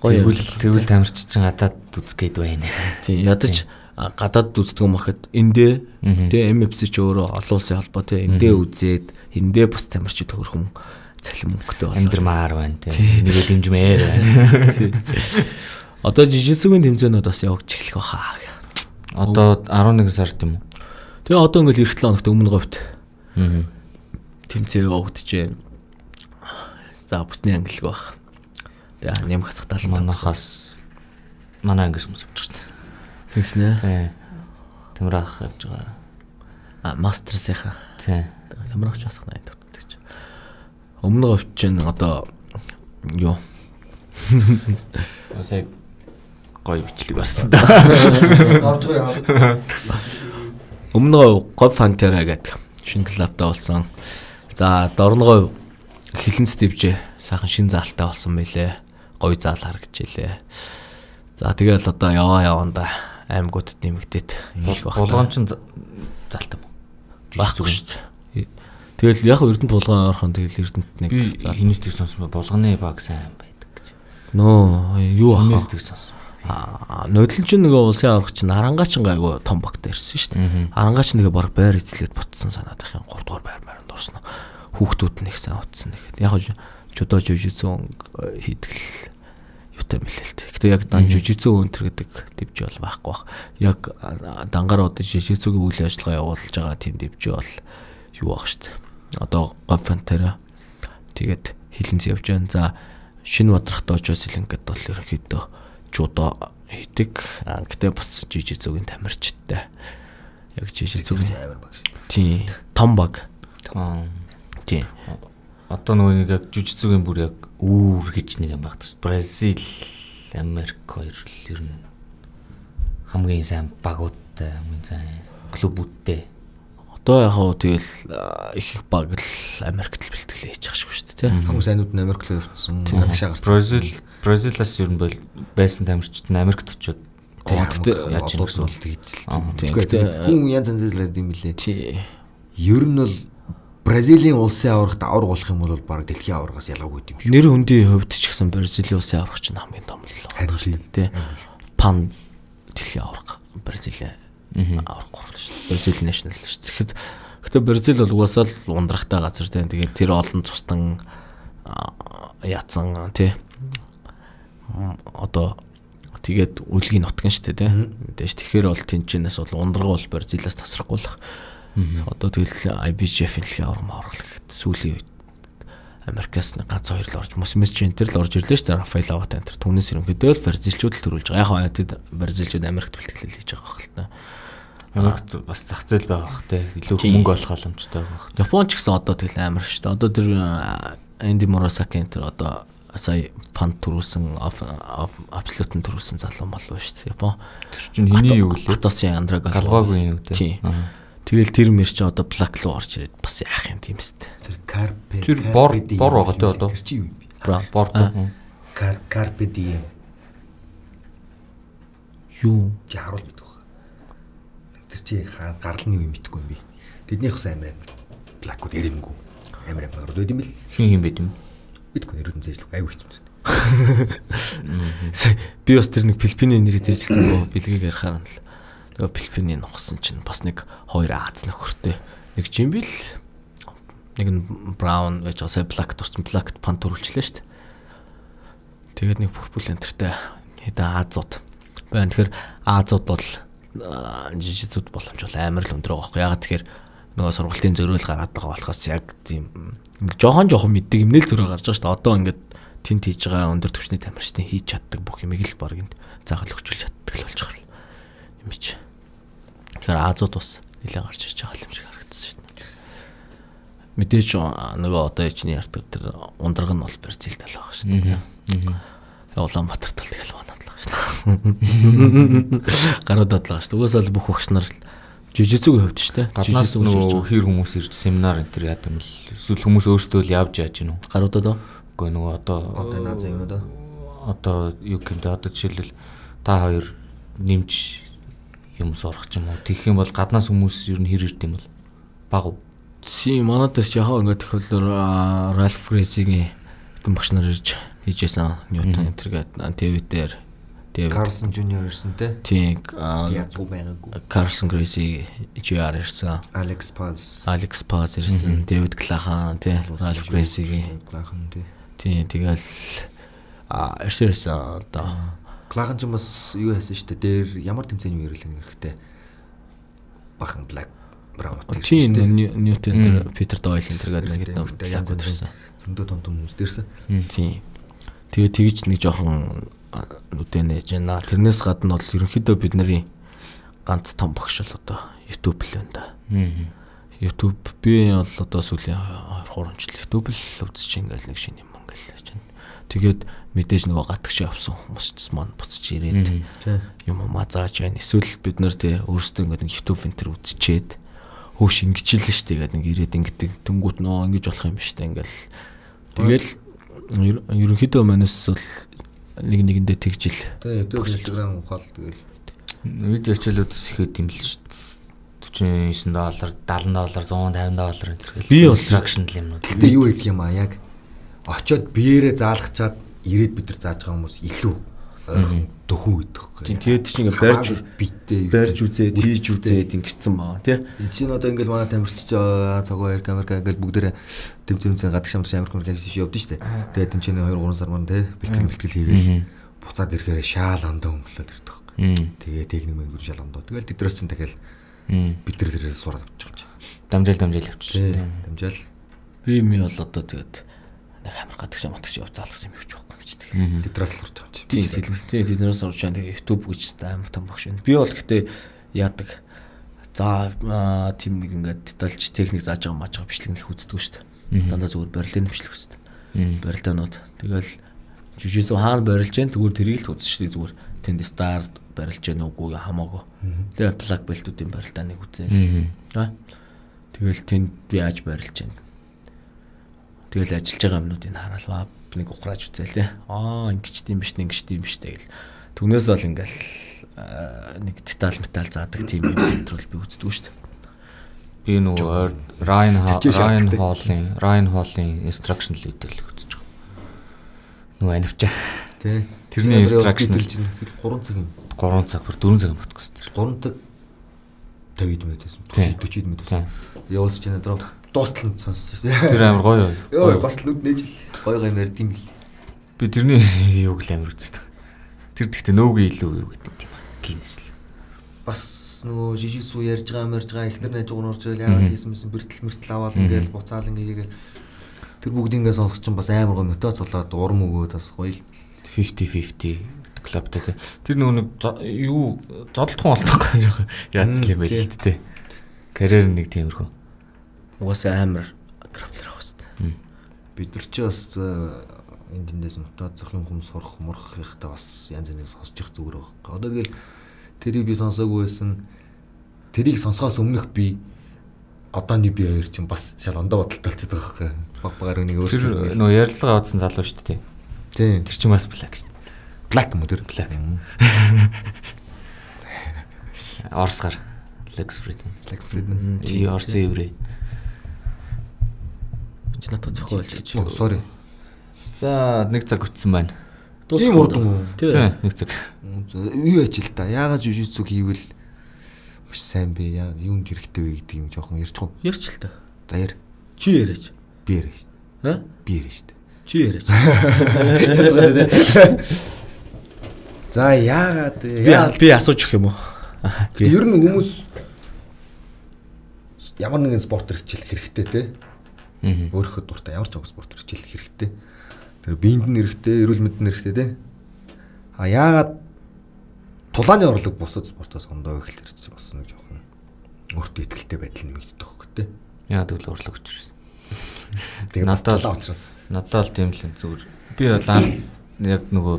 Тэгвэл тэгвэл тамирч чинь гадаад үзэх гээд байна. Тийм ядаж гадаад үздэг юм бахад эндээ тэгээ эм эф си ч өөрөө олон улсын холбоо тэгээ эндээ үзээд эндээ бас тамирчид төгөрхөн цалин мөнгөтэй болоо. Амьдрмаар байна тийм. Нэгэ дэмжмээр байна. Тийм. Одоо жижигсүгийн тэмцээнүүд бас явж эхлэх баха. Одоо арван нэг сард юм уу? Тэгээ одоо ингээл эх επτэн хоногт өмнө говьд. Аа. Тэмцээн явагдчихээн. За бүсний ангилэг баг. Тэгээ нэм хасахтал манахаас манай ангис хүмүүс авчих шүү дээ. Тэгснэ. Тий. Тамирах явж байгаа. А мастерсийнхаа. Тий. Тамирах часах найд төвтэй ч. Өмнө говьд чинь одоо юу? Осай гоё бичлэг барсан да. Орж байгаа юм. Өмнө говь фантера гэдэг шинэ клубтай болсон. За дорногой хилэнц дэвжээ сайхан шин заалтай болсон мэлээ. Гоё заал харагдчихлээ. За тэгэл одоо яваа яванда аймагуудад нэмэгдээд болгоон ч заалтай. байхгүй шүү дээ. Тэгэл яг Эрдэнэт булган орхон тэгэл Эрдэнэт нэг хинэстэг сонсон булганы баг сайн байдаг гэж. Нөө юу ахаа. Хинэстэг сонсон. Аа нодлон ч нөгөө улсын аврагч чинь Арангаачин айгу том багт ирсэн шүү дээ. Арангааш нэгэ баг байр эзлээд бутсан санаад их гурав дугаар байр байранд орсон. Хүүхдүүд нь их сайн утсан нэгэд. Яг жудо жижигзэн хийдгэл юутай мэлэлт. Гэтэ яг дан жижигзэн өнтер гэдэг дэвжээ бол байхгүй бах. Яг дангаар одоо жижигзэгийн үйл ажиллагаа явуулж байгаа тийм дэвжээ бол юу баг шүү дээ. Одоо говьфантера тэгээд хилэнц явж байгаа. За шинэ Бадрахт очоос илэнгэд бол ерөнхийдөө жудо хийдэг. Гэтэ бас жижигзэгийн тамирчтай. Яг жижигзэгийн амар баг шүү. Тийм том баг. Том. Тийм. Одоо нөгөө нэг яг жижигзэгийн бүр яг үүр гэж нэг юм багтас. Бразил, Америк хоёр л ер нь хамгийн сайн багуудтай, хамгийн сайн клубүүдтэй. Одоо яг хөө тэгэл их их баг л Америкт л бэлтгэлээ хийж байгаа шүү дээ, тийм. Хамгийн сайнууд нь Америк руу явуулсан. Гадагшаа гарсан. Бразил, Бразилаас ер нь бол байсан тамирчид нь Америкт очиод Тэгтээ яаж юм гэсэн үг хийж л. Тэгтээ хүн янз янз л юм лээ. тий. Ер нь бол Бразилийн улсын аврагт авраг болох юм бол баг дэлхийн аврагаас ялгаагүй юм шүү. Нэр хүндийн хувьд ч гэсэн Бразилийн улсын аврагч нь хамгийн том л байна шүү дээ, тий. Пан дэлхийн авраг Бразилийн авраг гуравт шүү дээ. Бразил national шүү дээ. Тэгэхэд гэхдээ Бразил бол угаасаа л ундрахтай газар тий. Тэгээд тэр олон цустан яатсан тий. Одоо тэгээд үлгийн нутган шүү дээ, тий. Мэдээж тэгэхээр бол тэнчнээс бол ундраг бол Бразилаас тасрахгүй л. Одоо тэгэл ай би джи-ийн авраг авраг гэхэд сүүлийн үед Америкаас нэг ганц хоёр л орж мөсмэс ч энэ төр л орж ирлээ шүү дээ. Рафаэл Ават энэ төр түүнээс ерөнхийдөө л Бразилчууд л төрүүлж байгаа. Яг хаа тэд Бразилчууд Америкт бэлтгэлэл хийж байгаа хэл та. Америкт бас зах зээл байгаа бах те. Илүү мөнгө олох боломжтой байгаа бах. Япон ч гэсэн одоо тэгэл амар шүү дээ. Одоо тэр Энди Моросаки энэ төр одоо сая фанд төрүүлсэн абсолютен төрүүлсэн залуу мал байна шүү дээ. Япон. Тэр чинь хэний юу лээ? Атосын Андрага галваагүй юм те. Тэгэл тэр мэр чи одоо блак руу орж ирээд бас яах юм тийм сте. Тэр карпе тэр бор бор байгаа те одоо. Тэр чи юу юм? Бор. Кар карпе ди. Юу? Чи харуул мэдэх баха. Тэр чи гарлны юу мэдхгүй юм би. Тэднийх бас амар амар блакуд ярэмгүй. Амар амар орд байд юм бэл. Хин хин байд юм. Мэдгүй ерөөдөн зээжлэг аюу хэцүү. Сая би бас тэр нэг Филиппиний нэрийг зээжсэн гоо бэлгийг ярихаар нь л нөгөө Филиппиний нухсан чинь бас нэг хоёр Аз нөхөртэй. Нэг Жимбил нэг нь Браун байж байгаа. Сая Блак дурсан Блакт пан төрүүлчлээ шүү дээ. Тэгээд нэг Purple энтертэй хэдэн Азууд байна. Тэгэхээр Азууд бол жижигзүүд боломж бол амар л өндөр байгаа байхгүй. Ягаад тэгэхээр нөгөө сургалтын зөрөөл гараад байгаа болохоос яг тийм жоохон жоохон мэддэг юм нэл зөрөө гарч байгаа шүү дээ. Одоо ингээд тент хийж байгаа өндөр түвшний тамирчдын хийж чаддаг бүх юмыг л баг энд заахал өгчүүлж чаддаг л болж байгаа юм чи. Тэгэхээр Азууд бас нэлээд гарч ирж байгаа юм шиг харагдсан шүү дээ. Мэдээж нөгөө одоо ичний ярддаг тэр ундраг нь бол Бразил тал байгаа шүү дээ. Улаанбаатар тал тэгэл банаад л байгаа шүү дээ. Гаруудад л байгаа шүү дээ. Угаасаа л бүх багш нар жижигзүүгийн хувьд шүү дээ. Гаднаас нөгөө хэр хүмүүс ирж семинар энэ төр яадаг юм л эсвэл хүмүүс өөрсдөө л явж яаж гинүү. Гаруудад уу? Үгүй нөгөө одоо одоо наазаа юм даа. Одоо юу гэмдэ одоо жишээлбэл та хоёр нэмж юмс орох ч юм уу. Тэгэх юм бол гаднаас хүмүүс ер нь хэр ирд юм бол баг уу? Си манай дээр ч яхаа ингээд тэгэхээр Ральф Грейсигийн хэдэн багш нар ирж хийжсэн Ньютон энтергээд ТV дээр Карсон Жуниор ирсэн те. Тийм. Язгуу байгаагүй. Карсон Грейси жи ар ирсэн. Алекс Паз. Алекс Паз ирсэн. Дэвид Клахан тий. Ральф Грейсигийн Клахан тий. Тийм тэгэл а эрсэрсэн одоо Клахан ч бас юу хийсэн шүү дээ. Дээр ямар тэмцээний үеэр л хэрэгтэй. Бахан Black Brown тийм Ньютон дээр Питер Дойл энэ төр гэдэг нэг яг үзсэн. Зөндөө том том хүмүүс дээрсэн. Тийм. Тэгээ тэгж нэг жоохон нүдэн нээж байна. Тэрнээс гадна бол ерөнхийдөө бидний ганц том багш л одоо YouTube л байна да. YouTube би бол одоо сүүлийн хоёр гурван жил YouTube л үзэж ингээл нэг шинэ юм ингээл хийж байна. Тэгээд мэдээж нөгөө гатгч явсан хүмүүс ч маань буцаж ирээд юм мазааж байна. Эсвэл бид нар тий өөрсдөө ингээд нэг YouTube энтер үзчихэд хөөш ингэжлээ шүү дээ гэдэг нэг ирээд ингэдэг тэнгуут нөө ингэж болох юм биш үү ингээл тэгэл ерөнхийдөө манус бол нэг нэгэндээ тэгжил. Тэгээ YouTube Instagram ухаал тэгэл видео хичээлүүдс ихэд юм л шүү дээ. орчим девятнадцать доллар, seventy доллар, one fifty доллар энэ би construction юмнууд. Гэтэ юу гэдэг юм аа яг очоод биеэрээ заалгачаад ирээд бид нар зааж байгаа хүмүүс илүү ойрхон дөхөн гэдэг байхгүй. Тэгээд чи ингээ барьж битээ барьж үзээд хийж үзээд ингэсэн баа тий. Энэ чинь одоо ингээл манай тамирчич цагаа Америк Америк ингээл бүгдээрээ тэмцэн гадаг шамрч Америк Америк хийж явдсан шүү дээ. Тэгээд энэ чинь two three сар маань тий бэлтгэл бэлтгэл хийгээл буцаад ирэхээр шаал ондоо өнгөлөөд ирдэг байхгүй. Тэгээд техник мөнгө шаал ондоо. Тэгэл тэдрээс чинь дахиад бид нар тэрээс сураад авчих юм. Дамжаал дамжаал явчих. Дамжаал. Би ми бол одоо тэгээд нэг амар гадаг шам матгч яв заалгасан юм юу ч байхгүй юм чи тэгээд. Тэдрээс сурч байгаа юм чи. Тийм тийм тэднээс сурч байгаа тэгээд YouTube гэж амар том багш байна. Би бол гэхдээ яадаг за тийм нэг ингээд детальч техник зааж байгаа маач байгаа бичлэг нэх үздэг шүү дээ. Дандаа зүгээр барилын бичлэг үздэг. Барилдаанууд. Тэгэл жижигсэн хаана барилж जैन зүгээр тэрийг л үзсэн шүү дээ зүгээр. Тэнд стар барилж जैन үгүй хамаагүй. Тэгээ плаг бэлтүүдийн барилдааныг үзээл. Аа. Тэгэл тэнд би яаж барилж जैन. Тэгэл ажиллаж байгаа юмнуудыг хараал нэг ухрааж үзээл те. Аа ингэж тийм биш нэг ингэж тийм биш тэгэл. Түнээс бол ингээл нэг деталь металл заадаг тийм юм контрол би үздэг шүү дээ. Би нөгөө Ryan Ryan Hall-ын Ryan Hall-ын instruction lead-ийг үзэж байгаа. Нөгөө анивчаа. Тий. Тэрний instruction three цаг юм. three цаг бүр four цаг бодгоос тэр. three цаг fifty минут байсан. forty минут байсан. Явуулж чинь дараа дуустал нь сонссон шүү дээ. Тэр амар гоё. Йоо бас нүд нээж гоё гоё нэр тийм л. Би тэрний юуг л амар үздэг. Тэр гэхдээ нөөгийн илүү юу гэдэг юм аа. Гинэс л. Бас нөгөө жижигсүү ярьж байгаа мэрж байгаа ихнэр найз гоо нурж ирэл яагаад хийсэн мэсэн бэртэл мэртэл аваад ингээл буцаал ингээгээл тэр бүгд ингээ сонсох чинь бас амар гоё мотивац болоод урам өгөөд бас гоё л fifty fifty клубтай те. Тэр нөгөө юу зодтолтхон болтойгоо жоох яатсан юм байл л те. Карьер нэг тиймэрхүү. Угаасаа амар графлер авах хэвээр. Бид нар ч бас энэ дэндээс мотивац зөвхөн хүмүүс сурах мурах ихтэй бас янз янзыг сонсож их зүгээр байгаа. Одоо тэгэл тэрийг би сонсоогүй байсан. Тэрийг сонсохоос өмнөх би одооний би хоёр чинь бас шал ондоо бодолтой болчиход байгаа байхгүй. Баг багаар нэг өөрсдөө нөгөө ярилцлага авсан залуу шүү дээ. Тийм. Тэр чинь бас black. Black юм уу тэр? Black. Орсгар Lex Friedman. Lex Friedman. И орсын еврей. Чи надад зохиолж гэж. Sorry. За нэг цаг үтсэн байна. Тийм урдан уу? Тийм нэг цаг. Юу яж л та. Яагаад жижигцүг хийвэл маш сайн бэ? Яа юунд хэрэгтэй вэ гэдэг юм жоохон ярьчих уу? Ярьч л та. За яар. Чи яриач. Би яриа. Аа? Би яриа шүү дээ. Чи яриач. За яагаад би би асууж өгөх юм уу? Ер нь хүмүүс ямар нэгэн спорт хичээл хэрэгтэй те. Өөрийнхөө дуртай ямар ч нэг спорт хичээл хэрэгтэй. Тэр биед нь хэрэгтэй, эрүүл мэнд нь хэрэгтэй те. А яагаад тулааны орлого бусад спортоос ондоо их л ирж болсон нэг жоохон өөртөө ихтэй байдал нэмэгддэг байхгүй те. Яагаад гэвэл орлого учраас. Тэгээд надад л учраас. Надад л тийм л зүгээр. Би бол яг нөгөө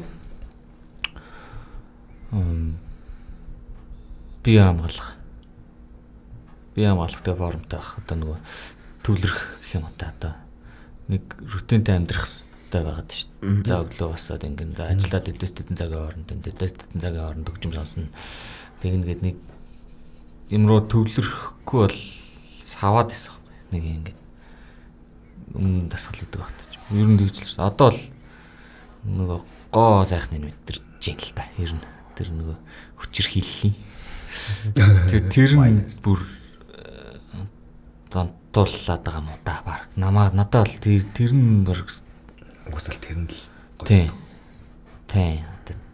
би хамгаалах. Би хамгаалахтай формтой байх. Одоо нөгөө төвлөрөх гэх юм та одоо нэг рутинтэй амьдрах хэрэгтэй байгаад шүү дээ. За өглөө басаад ингэн за ажиллаад дэдэс дэдэн цагийн хооронд дэдэс дэдэн цагийн хооронд хөгжим сонсно. Тэгнгээд нэг юм руу төвлөрөхгүй бол саваад исэн байхгүй. Нэг ингэ өмнө дасгал гэдэг багтаж. Ер нь тэгж л шүү. Одоо л нөгөө гоо сайхныг мэдэрч ийн л та. Ер нь тэр нөгөө хүчээр хийллийн. Тэр нь бүр донтуулаад байгаа юм да баг. Намаа надад л тэр тэр нь бүр угсаал тэр нь л тий. Тий.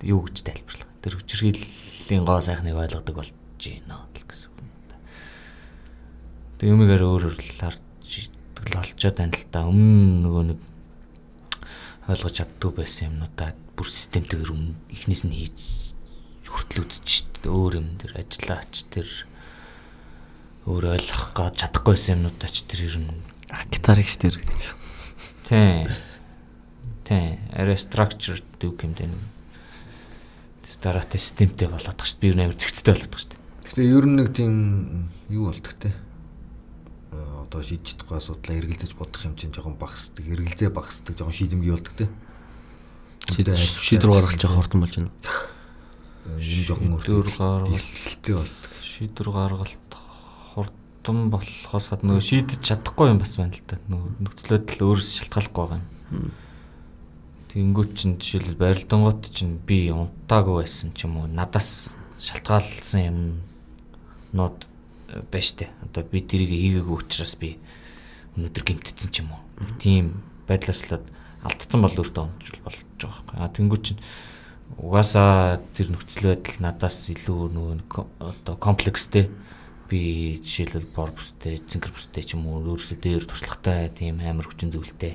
Юу гэж тайлбарлах. Тэр хүчирхийллийн гоо сайхныг ойлгодог болж байна л гэсэн үг. Тэг юмгаар өөрөөр л харж олцоо тань л та өмнө нөгөө нэг ойлгож чаддгүй байсан юмнуудаа бүр системтэйгээр эхнээс нь хийж хүртэл үзэж өөр юм дээр ажиллаач тэр өөр ойлгох гэж чадахгүйсэн юмнуудаа ч тэр ер нь гитарикс тэр гэж. Тий. Тий. Арай structure дүүх юм дээ. Старатай системтэй болоод тах шүү. Би ер нь амар зэгцтэй болоод тах шүү. Гэтэ ер нь нэг тийм юу болдог те. Одоо шийдэж чадахгүй асуудлаа эргэлзэж бодох юм чинь жоохон багасдаг, эргэлзээ багасдаг, жоохон шийдэмгий болдог те. Шийдвэр гаргаж байгаа хурдан болж байна. Энэ жоохон шийдвэр гаргалт болдог. Шийдвэр гаргалт хурдан болохоос гадна нөгөө шийдэж чадахгүй юм бас байна л да. Нөгөө нөхцөл байдал өөрөөс шалтгааллахгүй байгаа юм. Тэнгүүт чинь жишээлбэл барилдангууд чинь би унтаагүй байсан ч юм уу надаас шалтгаалсан юм нод байж тээ. Одоо би тэрийг хийгээгүй учраас би өнөөдөр гэмтсэн ч юм уу. Тийм байдлаас л алдсан бол өөртөө онцлол болж байгаа байхгүй. А тэнгүүт чинь угаасаа тэр нөхцөл байдал надаас илүү нөгөө одоо комплекстэй би жишээлбэл бор бүстэй, цэнгэр бүстэй ч юм уу өөрөөсөө дээр туршлагатай тийм амар хүчин зүйлтэй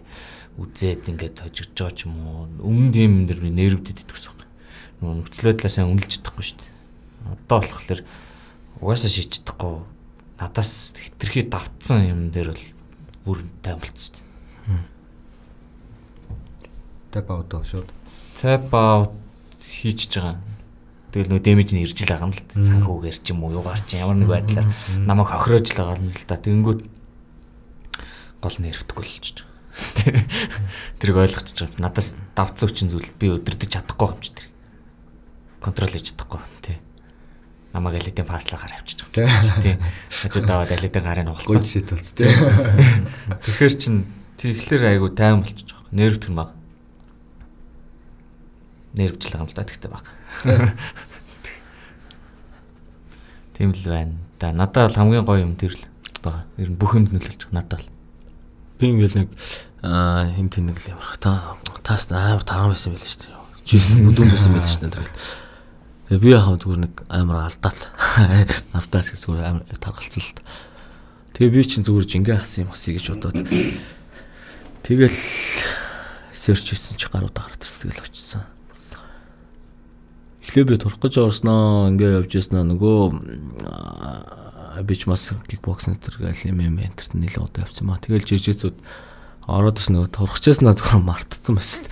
үзээд ингээд хожигдж байгаа ч юм уу өмнө тийм нэр нэрвдэд идэх гэсэн юм. Нөгөө нөхцөл байдлаа сайн үнэлж чадахгүй шүү дээ. Одоо болохоор угаасаа шийдэж чадахгүй надаас хитрхи давтсан юм дээр бол бүр таймлцсан. Tap out шууд. Tap out хийчихэж байгаа. Тэгэл нөө дэмэж нь ирж л байгаа юм л да. Цанхүүгээр ч юм уу юугаар ч ямар нэг байдлаар намайг хохироож л байгаа юм л да. Тэнгүүд гол нэрвдэхгүй л ч. Тэрийг ойлгочихж байгаа. Надаас давцсан хүчин зүйл би өдөрдөж чадахгүй юм чи тэр. Контрол хийж чадахгүй тий. Намайг алитын паслахаар авчиж байгаа. Тий. Хажууд аваад алитын гарыг нугалцсан. Гой шийт болц тий. Тэгэхээр чин тэгэхээр айгу тайм болчихж байгаа. Нервтгэн баг. Нервжлэг юм л да тэгтээ баг. Тийм л байна. Да надад бол хамгийн гоё юм тэр л байгаа. Ер нь бүх юмд нөлөөлж байгаа надад л. Би ингээл нэг аа хин тэнэг л ямар та таас амар тарган байсан байл шүү дээ. Жишээ нь бүдүүн байсан байл шүү дээ. Тэгээ би яхаа зүгээр нэг амар алдаал. Алдаас гэж зүгээр амар таргалцсан л та. Тэгээ би чинь зүгээр жингээ хасан юм хасъя гэж бодоод. Тэгэл сэрч хийсэн чи гаруудаа гараад ирсэн тэгэл очсон. Эхлээ би турах гэж орсноо ингээ явж яснаа нөгөө би ч бас кикбоксинг зэрэг юм юм энтерт нэлээд удаа явсан маа. Тэгэл жижигцүүд ороод иш нөгөө турах часнаа зүгээр мартцсан байсан.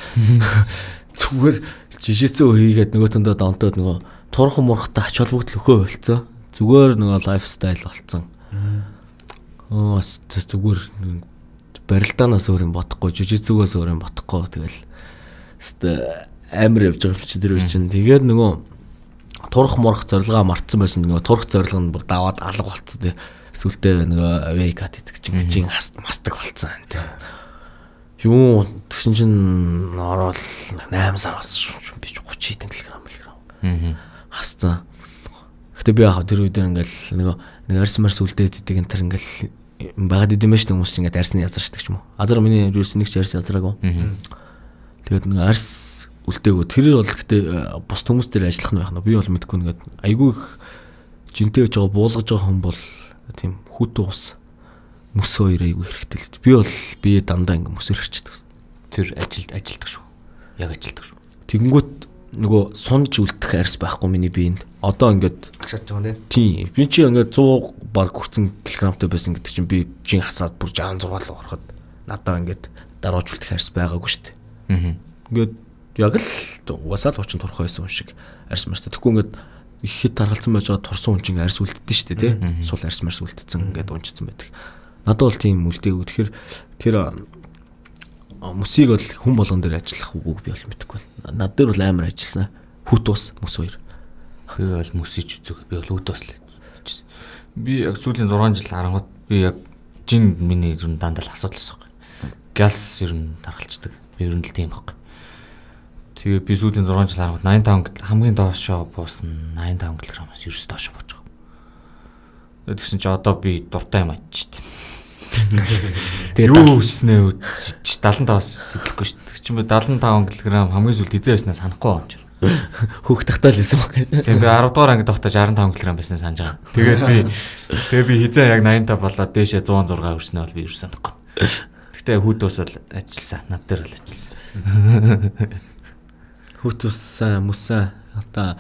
Зүгээр жижигцүү хийгээд нөгөө төндөө донтоод нөгөө турах мурахтай ач холбогдол өхөө болцсон. Зүгээр нөгөө лайфстайл болцсон. Оо зүгээр барилдаанаас өөр юм бодохгүй, жижигцүүгээс өөр юм бодохгүй тэгэл амар явж байгаа юм чи тэр үе чинь. Тэгээд нөгөө турах мурах зорилгоо мартсан байсан. Нөгөө турах зорилго нь бүр даваад алга болцсон тий. Эсвэл нөгөө вейкат гэдэг чинь чинь мастаг болцсон тий. Юу тэгсэн чинь ороод найман сар болсон юм би гучин кг мг. Аа. Хасцсан. Гэтэ би яхаа тэр үедээ ингээл нөгөө нэг арьс марс үлдээд идэг энэ тэр ингээл багад идэм байж хүмүүс чинь ингээд арьсны язарчдаг ч юм уу. Азар миний юус нэг ч арьс язраагүй. Тэгээд нэг арьс үлдээгөө тэрэр бол гэтээ бус хүмүүс дээр ажиллах нь байх нь би бол мэдгүй нэгэд айгүй их жинтэй байж байгаа буулгаж байгаа хүн бол тийм хүүтэн ус мөс хоёр айгүй хэрэгтэй л. Би бол би дандаа ингээ мөсөр хэрчдэг. Тэр ажилд ажилдаг шүү. Яг ажилдаг шүү. Тэгэнгүүт нөгөө сунж үлдэх арьс байхгүй миний биед. Одоо ингээд агшааж байгаа нэ. Тийм. Би чи ингээд сто баг хүрсэн килограммтай байсан гэдэг чинь би жин хасаад бүр шестьдесят шесть руу ороход надаа ингээд дарууж үлдэх арьс байгаагүй шүү дээ. Аа. Ингээд яг л угаасаа л хучин турах байсан юм шиг арьс марстай. Тэгэхгүй ингээд их хэд таргалцсан байж байгаа турсан хүн чинь арьс үлддэж шүү дээ тий. Сул арьс марс үлдсэн ингээд унжицсан байдаг. Надад бол тийм үлдээгүй. Тэгэхээр тэр мөсийг бол хүн болгон дээр ажиллах үгүйг би бол мэдэхгүй. Над дээр бол амар ажилласан. Хүт ус мөс хоёр. Би бол мөсөж үзэг. Би бол үт ус л. Би яг сүүлийн зургаан жил харангууд би яг жин миний ер нь дандаа л асуудал байсан. Газ ер нь таргалцдаг. Би ер нь л тийм байхгүй. Тэгээ би сүүлийн зургаан жил харангууд восемьдесят пять хамгийн доошоо буусан восемьдесят пять кг-аас ерөөс доошоо бууж байгаа. Тэгсэн чи одоо би дуртай юм ачиж. Тэгээ юу өснөө седемдесят пять-аас хэлэхгүй шүү дээ. Чи би седемдесят пять кг хамгийн сүүлд эзэн байснаа санахгүй юм чи. Хөөх тахтаа л байсан баг. Тэгээ би десять дугаар ангид тогтож шестьдесят пять кг байснаа санаж байгаа. Тэгээд би тэгээ би хизээ яг восемьдесят пять болоод дээшээ сто и шесть өрснөө бол би юу санахгүй. Гэхдээ хүүт ус бол ажилласан. Над дээр л ажилласан. Хүүт ус мөсөө одоо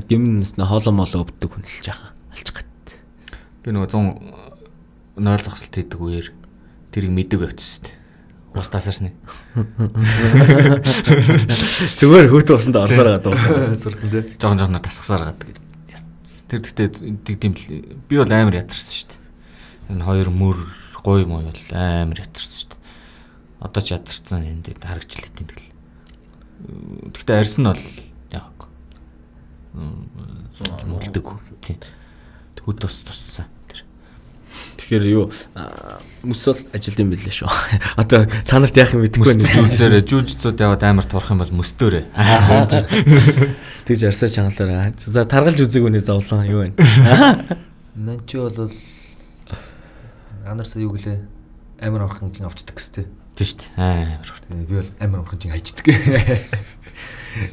гимнэс хоолоо молоо өвддөг хүн л жаахан алж гат. Би нөгөө сто нойл зогсолт хийдэг үеэр тэрийг мэдэг явчихсан. Ус тасарсны. Зүгээр хүүт усанд орсоор байгаа дуусна. Сурцсан тий. Жогон жогоноор тасгасаар гадаг. Тэр гэхдээ тийм л би бол амар ятарсан шүү дээ. Энэ хоёр мөр гой мой бол амар ятарсан шүү дээ. Одоо ч ятарсан юм дээр харагчлаа тийм тэгэл. Гэхдээ арьс нь бол яг мөлдөг тийм. Хүүт ус туссан тэр. Тэгэхээр юу мөсөл ажилд юм билээ шүү. Одоо та нарт яах юм мэдэхгүй байна. Жүжигчээр жүжигчүүд яваад амар турах юм бол мөстөөрэ. Тэгж арсаа чаналаараа. За таргалж үзег үнэ зовлон юу вэ? Ман ч бол анарсаа юу гэлээ амар орхон жин авчдаг гэстэй. Тийм шүү дээ. Амар. Би бол амар орхон жин хайчдаг.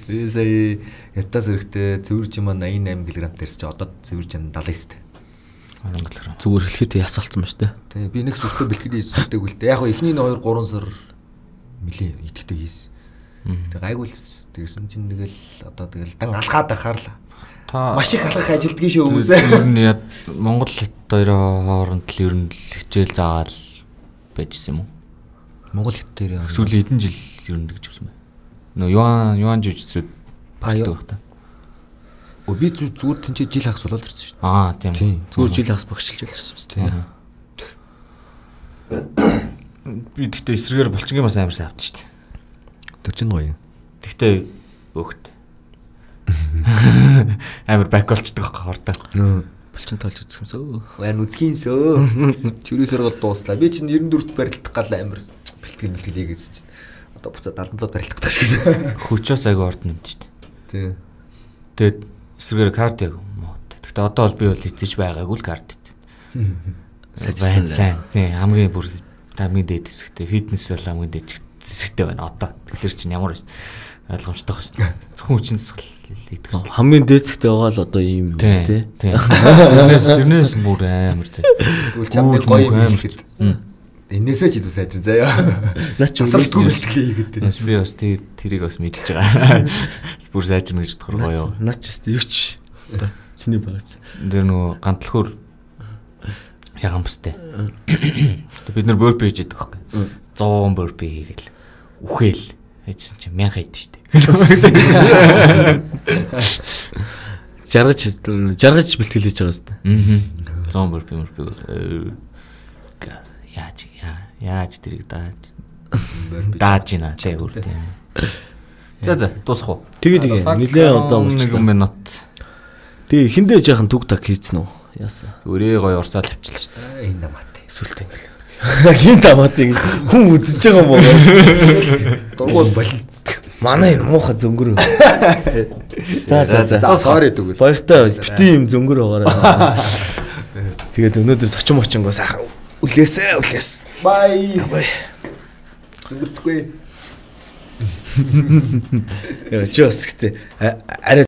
Би сая ятас эрэхтэй цэвэрж юм восемь восемь кг дээрс чи одоо цэвэрж юм семьдесят. Зүгээр хэлэхэд ясалцсан ба штэ. Тий би нэг сүртэй бэлтгэл хийж сүртэйг үлдээ. Яг эхний two three сар мөлий идэхтэй хийсэн. Тэг гайгүй л тэгсэн чинь тэгэл одоо тэгэл дан алхаад байхаар л та маш их алхах ажилддаг шүү хүмүүсээ. Ер нь яа Монгол хит хоёрын хооронд л ер нь хичээл заагаал байжсэн юм уу? Монгол хит дээр сүүлийн хэдэн жил ер нь гэж хэлсэн байна. Нөө юан юан жүжигчүүд паяа та. Өө би зүгээр тэнцээ жил хагас болоод ирсэн шүү дээ. Аа тийм. Зүгээр жил хагас багшилж ирсэн шүү дээ. Би тэгтээ эсрэгээр булчингийн бас амар сайн авдаг шүү дээ. төрчин гоё. Тэгтээ өөхт. Амар бак болчдөг хортой. Булчин тоолж үзэх юмсөө. Ван үзхийсөө. Чүрээсээр гол дууслаа. Би чинь ninety-four барилдах гал амар бэлтгэл бэлтгэл хийгээсэн чинь. Одоо буцаад seventy-seven барилдах тааш гэсэн. Хүчөөс аяг орд нэмт шүү дээ. Тий. Тэгээд эсрэгээр карт яг мод. Тэгтээ одоо бол би бол итгэж байгаагүй л карт. Сайн сайн. Тий хамгийн бүр хамгийн дээд хэсэгтэй фитнес бол хамгийн дээд хэсэгтэй байна одоо. Тэгэхээр чинь ямар ойлгомжтой байна шүү дээ. Зөвхөн хүчин засал идэх шүү. Хамгийн дээдсэгтэй байгаа л одоо ийм тий. Тий. Тэрнээс тэрнээс бүр амар тий. Тэгвэл чамд гоё юм хийхэд. Энээсээ ч идүү сайжир заяа. Наа ч засал төгөлтлээ хийгээд. Нас би бас тий тэрийг бас мэдчихэж байгаа. Бүр сайжирна гэж бодохоор гоё. Наа ч юу ч. Чиний багц. Тэр нөгөө гантлахөр ягамстай. Бид нар бөрпи хийж байдаг байхгүй. one hundred бөрпи хийгээл үхэл хийжсэн чинь one thousand хайд штэ. Жаргаж жаргаж бэлтгэл хийж байгаа зү. Аа. one hundred бөрпи мөрпи. Яаж яаж тэрийг дааж дааж гинэ тэг үр тийм. За за дуусах уу? Тэгээ тэгээ нилээ одоо нэг минут. Тэгээ хиндээ жаахан түг так хийцэн үү? Яасан. Өрөө гоё урсаал авчилж штэ. Энэ намат. Эсвэл тэгэл. Хин тамаад ингэ хүн үзэж байгаа юм уу? Дургуул болилцдаг. Манай энэ муухай зөнгөр. За за за. За sorry дүүл. Баяртай бити юм зөнгөр байгаарай. Тэгээд өнөөдөр сочин мочингоо сайхан үлээсээ үлээс. Бай. Зөнгөрдөхгүй. Яа ч ёс гэдэг. Арай